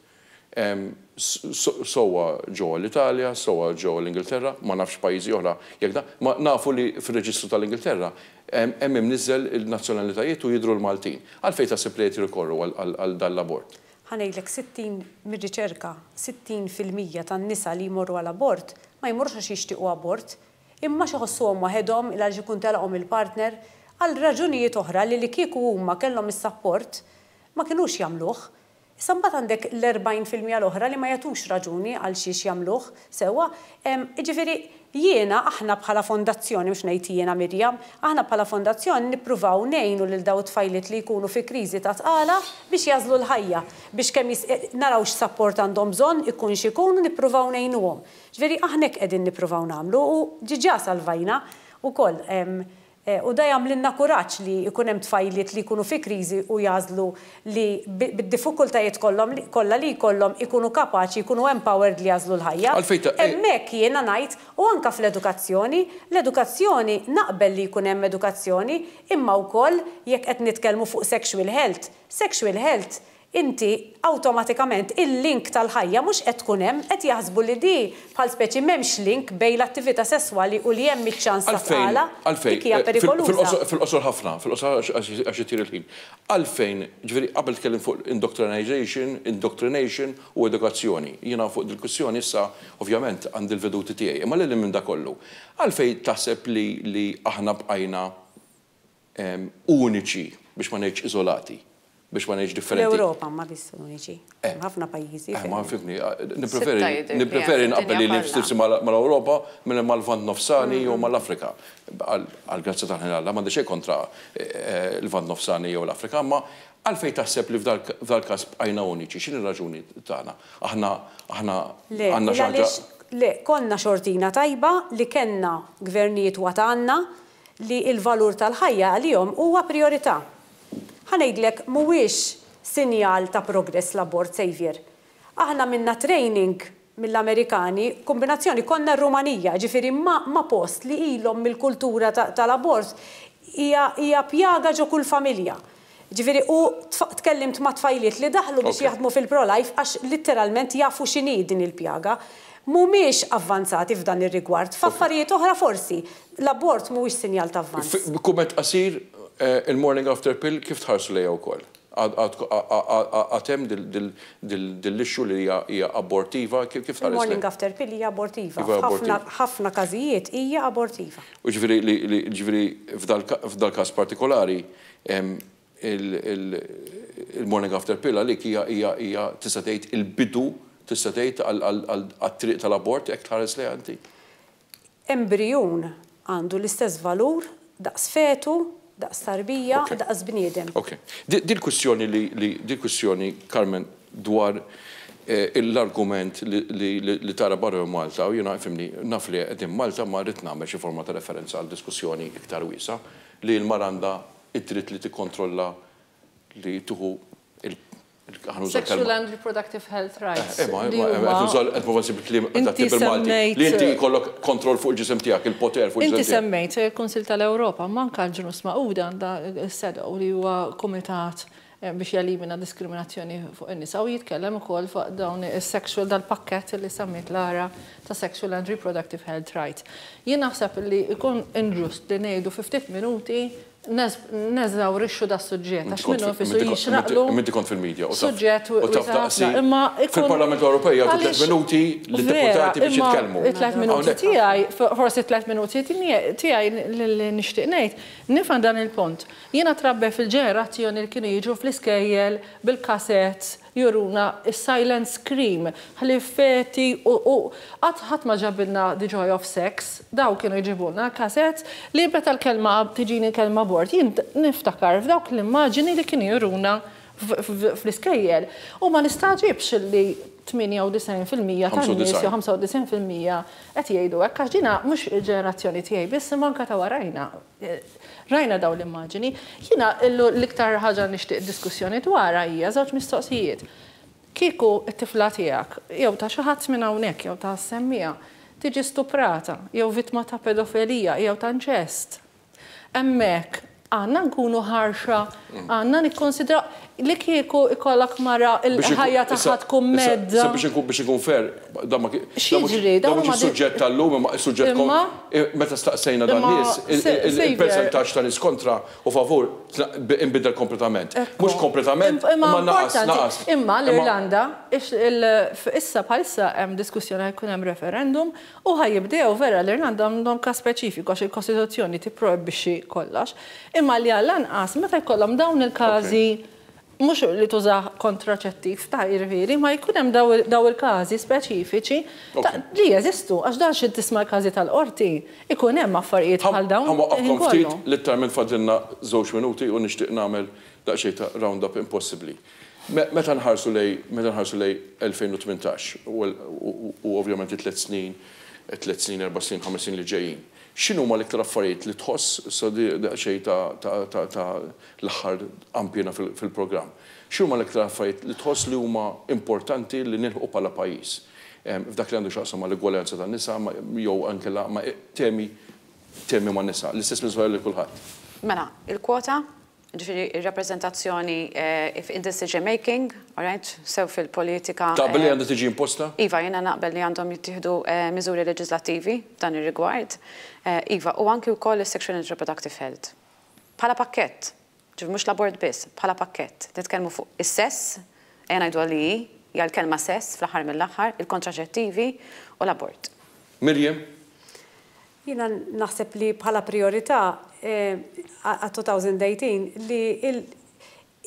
Speaker 1: Sewwa ġewwa l-Italja, sewwa ġewwa l-Ingilterra, ma nafx pajjiżi oħra jekk dan, ma nafu li fir-reġistru tal-Ingilterra hemm imniżżel il-nazzjonalitajiet u jidhru l-Maltin. Għalfejn taħseb li qed jirrikorru għal dan l-abort?
Speaker 4: Ħa ngħidlek 60 mir-riċerka, 60% tan-nisa li jmorru għal abort ma jmorrux għax jixtiequ abort, imma għax iħossuhom waħedhom, il għaliex ikun telaqhom il-partner, għal raġunijiet oħra li li kieku huma kellhom is-sapport ma kinux jagħmluh. Issa mbagħad għandek l-40% l-oħra li ma jagħtux raġuni għal xiex jagħmluh, sewwa? Jiġifieri jiena, aħna bħala fondazzjoni, mhux ngħid jiena Miriam, aħna bħala fondazzjoni nippruvaw ngħinu lil dawn it-tfajliet li jkunu fi kriżi ta' tqala biex jagħżlu l-ħajja, biex kemm naraw x'sapport għandhom bżonn, ikun x'ikun, u nippruvaw ngħinuhom. Ġifieri aħna hekk qegħdin nippruvaw nagħmlu u ġiġa salvajna wkoll. U da jagħmlilna kuraġġ li jkun hemm tfajliet li jkunu fi kriżi u jagħżlu li bid-diffikultajiet kollhom kollha li jkollhom ikunu kapaċi jkunu empowered li jagħżlu l-ħajja.
Speaker 1: Għalfejn ta'
Speaker 4: Hemmhekk jiena ngħid, u anke fl-edukazzjoni, l-edukazzjoni naqbel li jkun hemm edukazzjoni imma wkoll jekk qed nitkellmu fuq sexual health, sexual health Inti awtomatikament il-link tal-ħajja mhux qed tkun hemm, qed jaħsbu li di bħal speċi m'hemmx link bejn l-attività sesswali u li hemm iċ-ċans ta'
Speaker 1: Għalfejn,
Speaker 4: tqala,
Speaker 1: għalfejn,
Speaker 4: dik hija perikoluża.
Speaker 1: fil-qosor ħafna, fil-qosor għax itir il-ħin. Għalfejn, ġifieri qabel tkellimt fuq indoctrinization, indoctrination u edukazzjoni. Jiena fuq dil-kwistjoni issa ovvjament għandi l-veduti tiegħi, imma lil hinn minn dak kollu. Għalfejn taħseb li li aħna bqajna uniċi, biex ma ngħidx iżolati, biex ma ngħidx differenti.
Speaker 4: Fl-Ewropa ma biss uniċi, hemm ħafna pajjiżi
Speaker 1: fejn. Ma fimni, nippreferi nippreferi nqabbel lili nnifsi mal-Ewropa milli mal-Lvant Nofsani jew mal-Afrika. Għall-grazzja tal-ħin Alla m'għandi xejn kontra l-Lvant Nofsani jew l-Afrika, imma għalfejn taħseb li f'dal-każ bqajna uniċi? X'inhi r-raġuni tagħna? Aħna aħna għandna xi ħaġa.
Speaker 4: Le, konna xortina tajba li kellna gvernijiet wagħtgħanna li l-valur tal-ħajja għalihom huwa prijorità. Ħa ngħidlek mhuwiex sinjal ta' progress l-abort, Saviour. Aħna għamilna training mill-Amerikani, kombinazzjoni konna r-Rumanija, jiġifieri ma' ma' post li ilhom mill-kultura tal-abort hija hija pjaga ġo kull familja. Ġifieri u tkellimt ma' tfajliet li daħlu biex jaħdmu fil-pro-life għax litteralment jafu x'inhi din il-pjaga. Mhumiex avvanzati f'dan ir-rigward. F'affarijiet oħra forsi. L-abort mhuwiex sinjal ta' avvanz.
Speaker 1: Kumment qasir, il-morning after pill kif tħarsu lejha wkoll? Għad hemm dil-issue li hija abortiva, kif tħares lejha?
Speaker 4: Il-morning after pill hija abortiva. F'ħafna każijiet hija abortiva.
Speaker 1: U ġifieri ġifieri f'dal-każ partikolari il-morning after pill għalik hija hija hija tista' tgħid il-bidu tista' tgħid għat-triq tal-abort hekk tħares lejha inti?
Speaker 4: Embrijun għandu l-istess valur daqs fetu, daqs tarbija, daqs bniedem.
Speaker 1: Ok. Dil-kwistjoni li li dil-kwistjoni Carmen dwar l-argument li tara barra minn Malta, u jiena ifhimni naf li qegħdin Malta imma rrid nagħmel xi forma ta' referenza għal diskussjoni iktar wiesgħa, li l-mara għandha id-dritt li tikkontrolla li tieħu il ħa nuża l-kelma.
Speaker 3: Sexual and reproductive health rights.
Speaker 1: Eh, ma qed nuża qed nipprova nsib il-kliem adatti bil-Malti. Li inti jkollok kontroll fuq il-ġisem tiegħek, il-poter fuq il-ġisem
Speaker 3: tiegħek. Inti semmejt il-Kunsill tal-Ewropa, imma anke l-Ġnus Magħquda għandha s-CEDAW li huwa kumitat biex jelimina diskriminazzjoni fuq in-nisa u jitkellem ukoll fuq dawn is-sexual dal-pakkett li semmiet Lara ta' sexual and reproductive health rights. Jien naħseb li jkun inġust li ngħidu fi ftit minuti neżawrixxu das-suġġett għax minnu nfisu jixraqlu.
Speaker 1: Imma inti kont fil-media u taf.
Speaker 3: Suġġett
Speaker 1: U taf daqsi. Imma fil-Parlament Ewropej jagħtu tliet minuti lid-deputati biex jitkellmu.
Speaker 3: It-tliet minuti tiegħi, forsi t-tliet minuti tiegħi li nixtieq ngħid, nifhem dan il-punt. Jiena trabbejt fil-ġenerazzjoni li kienu jiġu fl-iskejjel bil-cassettes juruna s-silent scream, ħlief feti u u qatt ħadd ma ġabilna the joy of sex, dawk kienu jġibulna l-cassettes li meta l-kelma tiġini l-kelma abort jien niftakar f'dawk l-immaġini li kienu juruna fl-iskejjel. U ma nistagħġibx li 98% tan-nies jew 95% qed jgħidu hekk għax dina mhux il-ġenerazzjoni tiegħi biss imma anke ta' warajna. Rajna dawn l-immaġini. Jiena l-iktar ħaġa nixtieq diskussjoni dwarha hija żewġ mistoqsijiet. Kieku t-tifla tiegħek, jew ta' xi ħadd minn hawnhekk jew ta' semmiegħa, tiġi stuprata jew vittma ta' pedofilija jew ta' inċest, hemmhekk. Għandna nkunu ħarxa, għandna nikkonsidraw li kieku ikollok mara l-ħajja tagħha tkun mhedda.
Speaker 1: Issa biex inkun biex inkun fair, dan ma
Speaker 3: X'jiġri?
Speaker 1: Dan mhux is-suġġett tal-lum imma is-suġġett meta staqsejna dan-nies, il-persentaġġ ta' nies kontra u favur inbidel kompletament. Mhux kompletament, imma naqas, naqas.
Speaker 3: Imma l-Irlanda, issa bħalissa hemm diskussjoni ħa jkun hemm referendum U ħa jibdew, vera, l-Irlanda għandhom każ speċifiku għax il-Kostituzzjoni tipprojbixxi kollox, imma li għall-anqas meta jkollhom dawn il-każi, mhux li tużah kontraċettiv ta' jiġifieri, ma jkun hemm daw il-każi speċifiċi li jeżistu, għax dan xi tisma' l-każi tal-qorti, ikun hemm affarijiet bħal dawn
Speaker 1: Ħa nwaqqafkom ftit, litteralment fadlilna żewġ minuti u nixtieq nagħmel daqsxejn ta' round-up impossibbli. Meta nħarsu lejn meta nħarsu lejn 2018 u ovvjament it-tliet snin, tliet snin, erba' snin, ħames snin li ġejjin, x'inhuma l-iktar affarijiet li tħoss, issa di daqsxejn ta' ta' ta' ta' l-aħħar qanpiena fil-programm, x'inhuma l-iktar affarijiet li tħoss li huma importanti li nilħqu bħala pajjiż f'dak li għandu x'jaqsam mal-igwaljanza tan-nisa jew inkella ma' temi temi man-nisa? L-istess mistoqsija lil kulħadd.
Speaker 5: Mela, il-kwota Ġifieri r-rappreżentazzjoni in decision making, all right, sew fil-politika.
Speaker 1: Taqbel li għandha tiġi imposta?
Speaker 5: Iva, jiena naqbel li għandhom jittieħdu miżuri leġiżlattivi f'dan ir-rigward. Iva, u anki wkoll is-sexual and reproductive health. Bħala pakkett, ġifieri mhux l-abort biss, bħala pakkett. Nitkellmu fuq is-sess, ejja ngħiduha li hi, hija l-kelma sess fl-aħħar mill-aħħar, il-kontraċettivi u l-abort.
Speaker 1: Miriam?
Speaker 4: Jiena naħseb li bħala prijorità għat-2018 li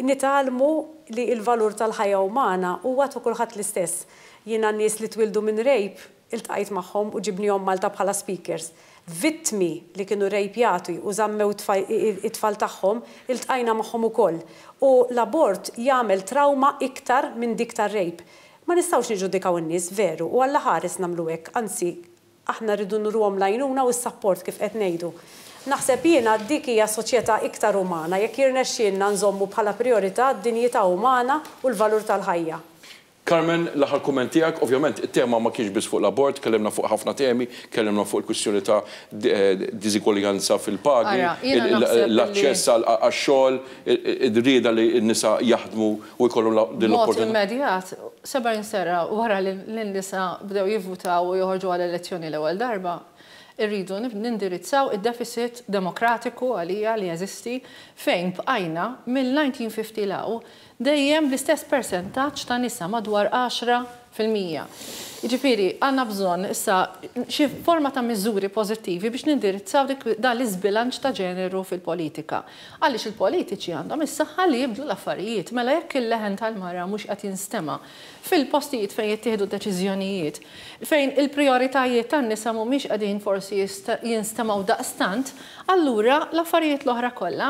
Speaker 4: nitgħallmu li l-valur tal-ħajja umana huwa ta' kulħadd l-istess. Jiena nies li twieldu minn rape iltqajt magħhom u ġibnihom Malta bħala speakers. Vittmi li kienu rejpjati u żammew it-tfal tagħhom iltqajna magħhom ukoll. U l-abort jagħmel trawma iktar minn dik tar-rape. Ma nistgħux niġġudikaw in-nies, veru, u Alla ħares nagħmlu hekk, anzi Aħna rridu nuruhom l-għajnuna u s-sapport kif qed ngħidu. Naħseb jiena dik hija soċjetà iktar umana jekk jirnexxielna nżommu bħala prijorità d-dinjità umana u l-valur tal-ħajja.
Speaker 1: Carmen, l-aħħar kumment tiegħek. Ovvjament it-tema ma kienx biss fuq l-abort, tkellimna fuq ħafna temi, tkellimna fuq il-kwistjoni ta' diżigwaljanza fil-pagi, l-aċċess għax-xogħol, ir-rieda li n-nisa jaħdmu u jkollhom din l-opportunità.
Speaker 3: B'mod immedjat, 70 sena wara li n-nisa bdew jivvutaw u joħorġu għal elezzjoni l-ewwel darba, irridu nindirizzaw id-deficit demokratiku għalija li jeżisti fejn bqajna mill-1950 'l hawn dejjem bl-istess persentaġġ ta' nisa madwar 10%. Jiġifieri għandna bżonn issa xi forma ta' miżuri pożittivi biex nindirizzaw dik dan l-iżbilanċ ta' ġeneru fil-politika. Għaliex il-politiċi għandhom is-saħħa li jibdlu l-affarijiet. Mela jekk il-leħen tal-mara mhux qed jinstema' fil-postijiet fejn jittieħdu d-deċiżjonijiet, fejn il-prijoritajiet tan-nisa mhumiex qegħdin forsi jinstemgħu daqstant, allura l-affarijiet l-oħra kollha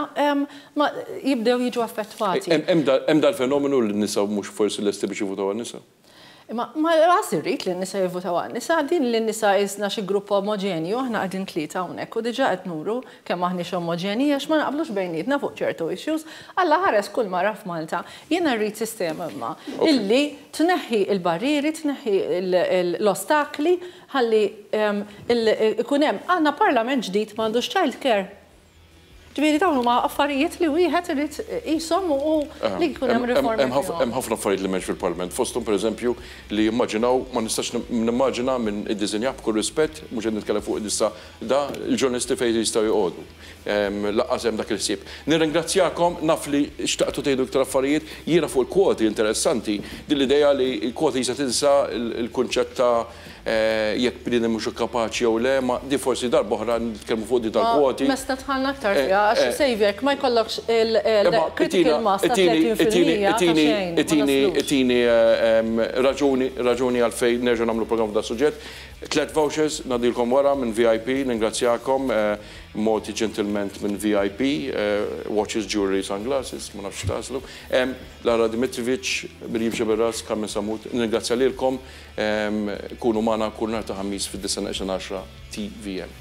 Speaker 3: jibdew jiġu affettwati.
Speaker 1: Hemm dal-fenomenu li n-nisa mhux forsi lesti biex jivvutaw għan-nisa?
Speaker 3: Imma ma lanqas irrid li n-nisa jivvutaw għan-nisa, din li n-nisa qisna xi grupp omoġenju, aħna qegħdin tlieta hawnhekk u diġà qed nuru kemm aħniex omoġenji għax ma naqblux bejnietna fuq ċertu issues. Alla ħares kull mara f'Malta. Jiena rrid sistema imma illi tneħħi l-barrieri, tneħħi l-ostakli ħalli ikun hemm, għandna parlament ġdid m'għandux child care. Ġifieri dawn huma affarijiet li wieħed irid iqishom u li jkun hemm riformi fihom.
Speaker 1: Hemm ħafna affarijiet li m'hemmx fil-Parlament, fosthom pereżempju li jimmaġinaw, ma nistax nimmaġina min iddisinjah b'kull rispett, mhux qed nitkellem fuq issa da, il-ġurnalisti fejn jistgħu joqogħdu. Lanqas hemm dak il-ħsieb. Nirringrazzjakom, naf li xtaqtu tgħidu iktar affarijiet, jiena fuq il-kwoti interessanti din l-idea li l-kwoti jista' tinsa l-kunċett ta' Jekk bniedem mhux kapaċi jew le, ma di forsi darba oħra nitkellmu fuq di tal-kwoti.
Speaker 3: Ma messna dħalna aktar fiha għax Saviour jekk ma jkollokx il-critical mass ta' 30% ta' xejn.
Speaker 1: Itini itini raġuni raġuni għalfejn nerġgħu nagħmlu programm f'dan suġġett. Tlet vouchers ngħaddilkom wara minn VIP, ningrazzjakom mogħti ġentilment minn VIP, watches, jewellery, sunglasses, ma nafx x'tagħżlu. Lara Dimitrivic, Miriam Sceberras, Carmen Sammut, nirringrazzja lilkom. Kunu magħna kull nhar ta' Ħamis fid-disgħa neqsin għaxra TVM.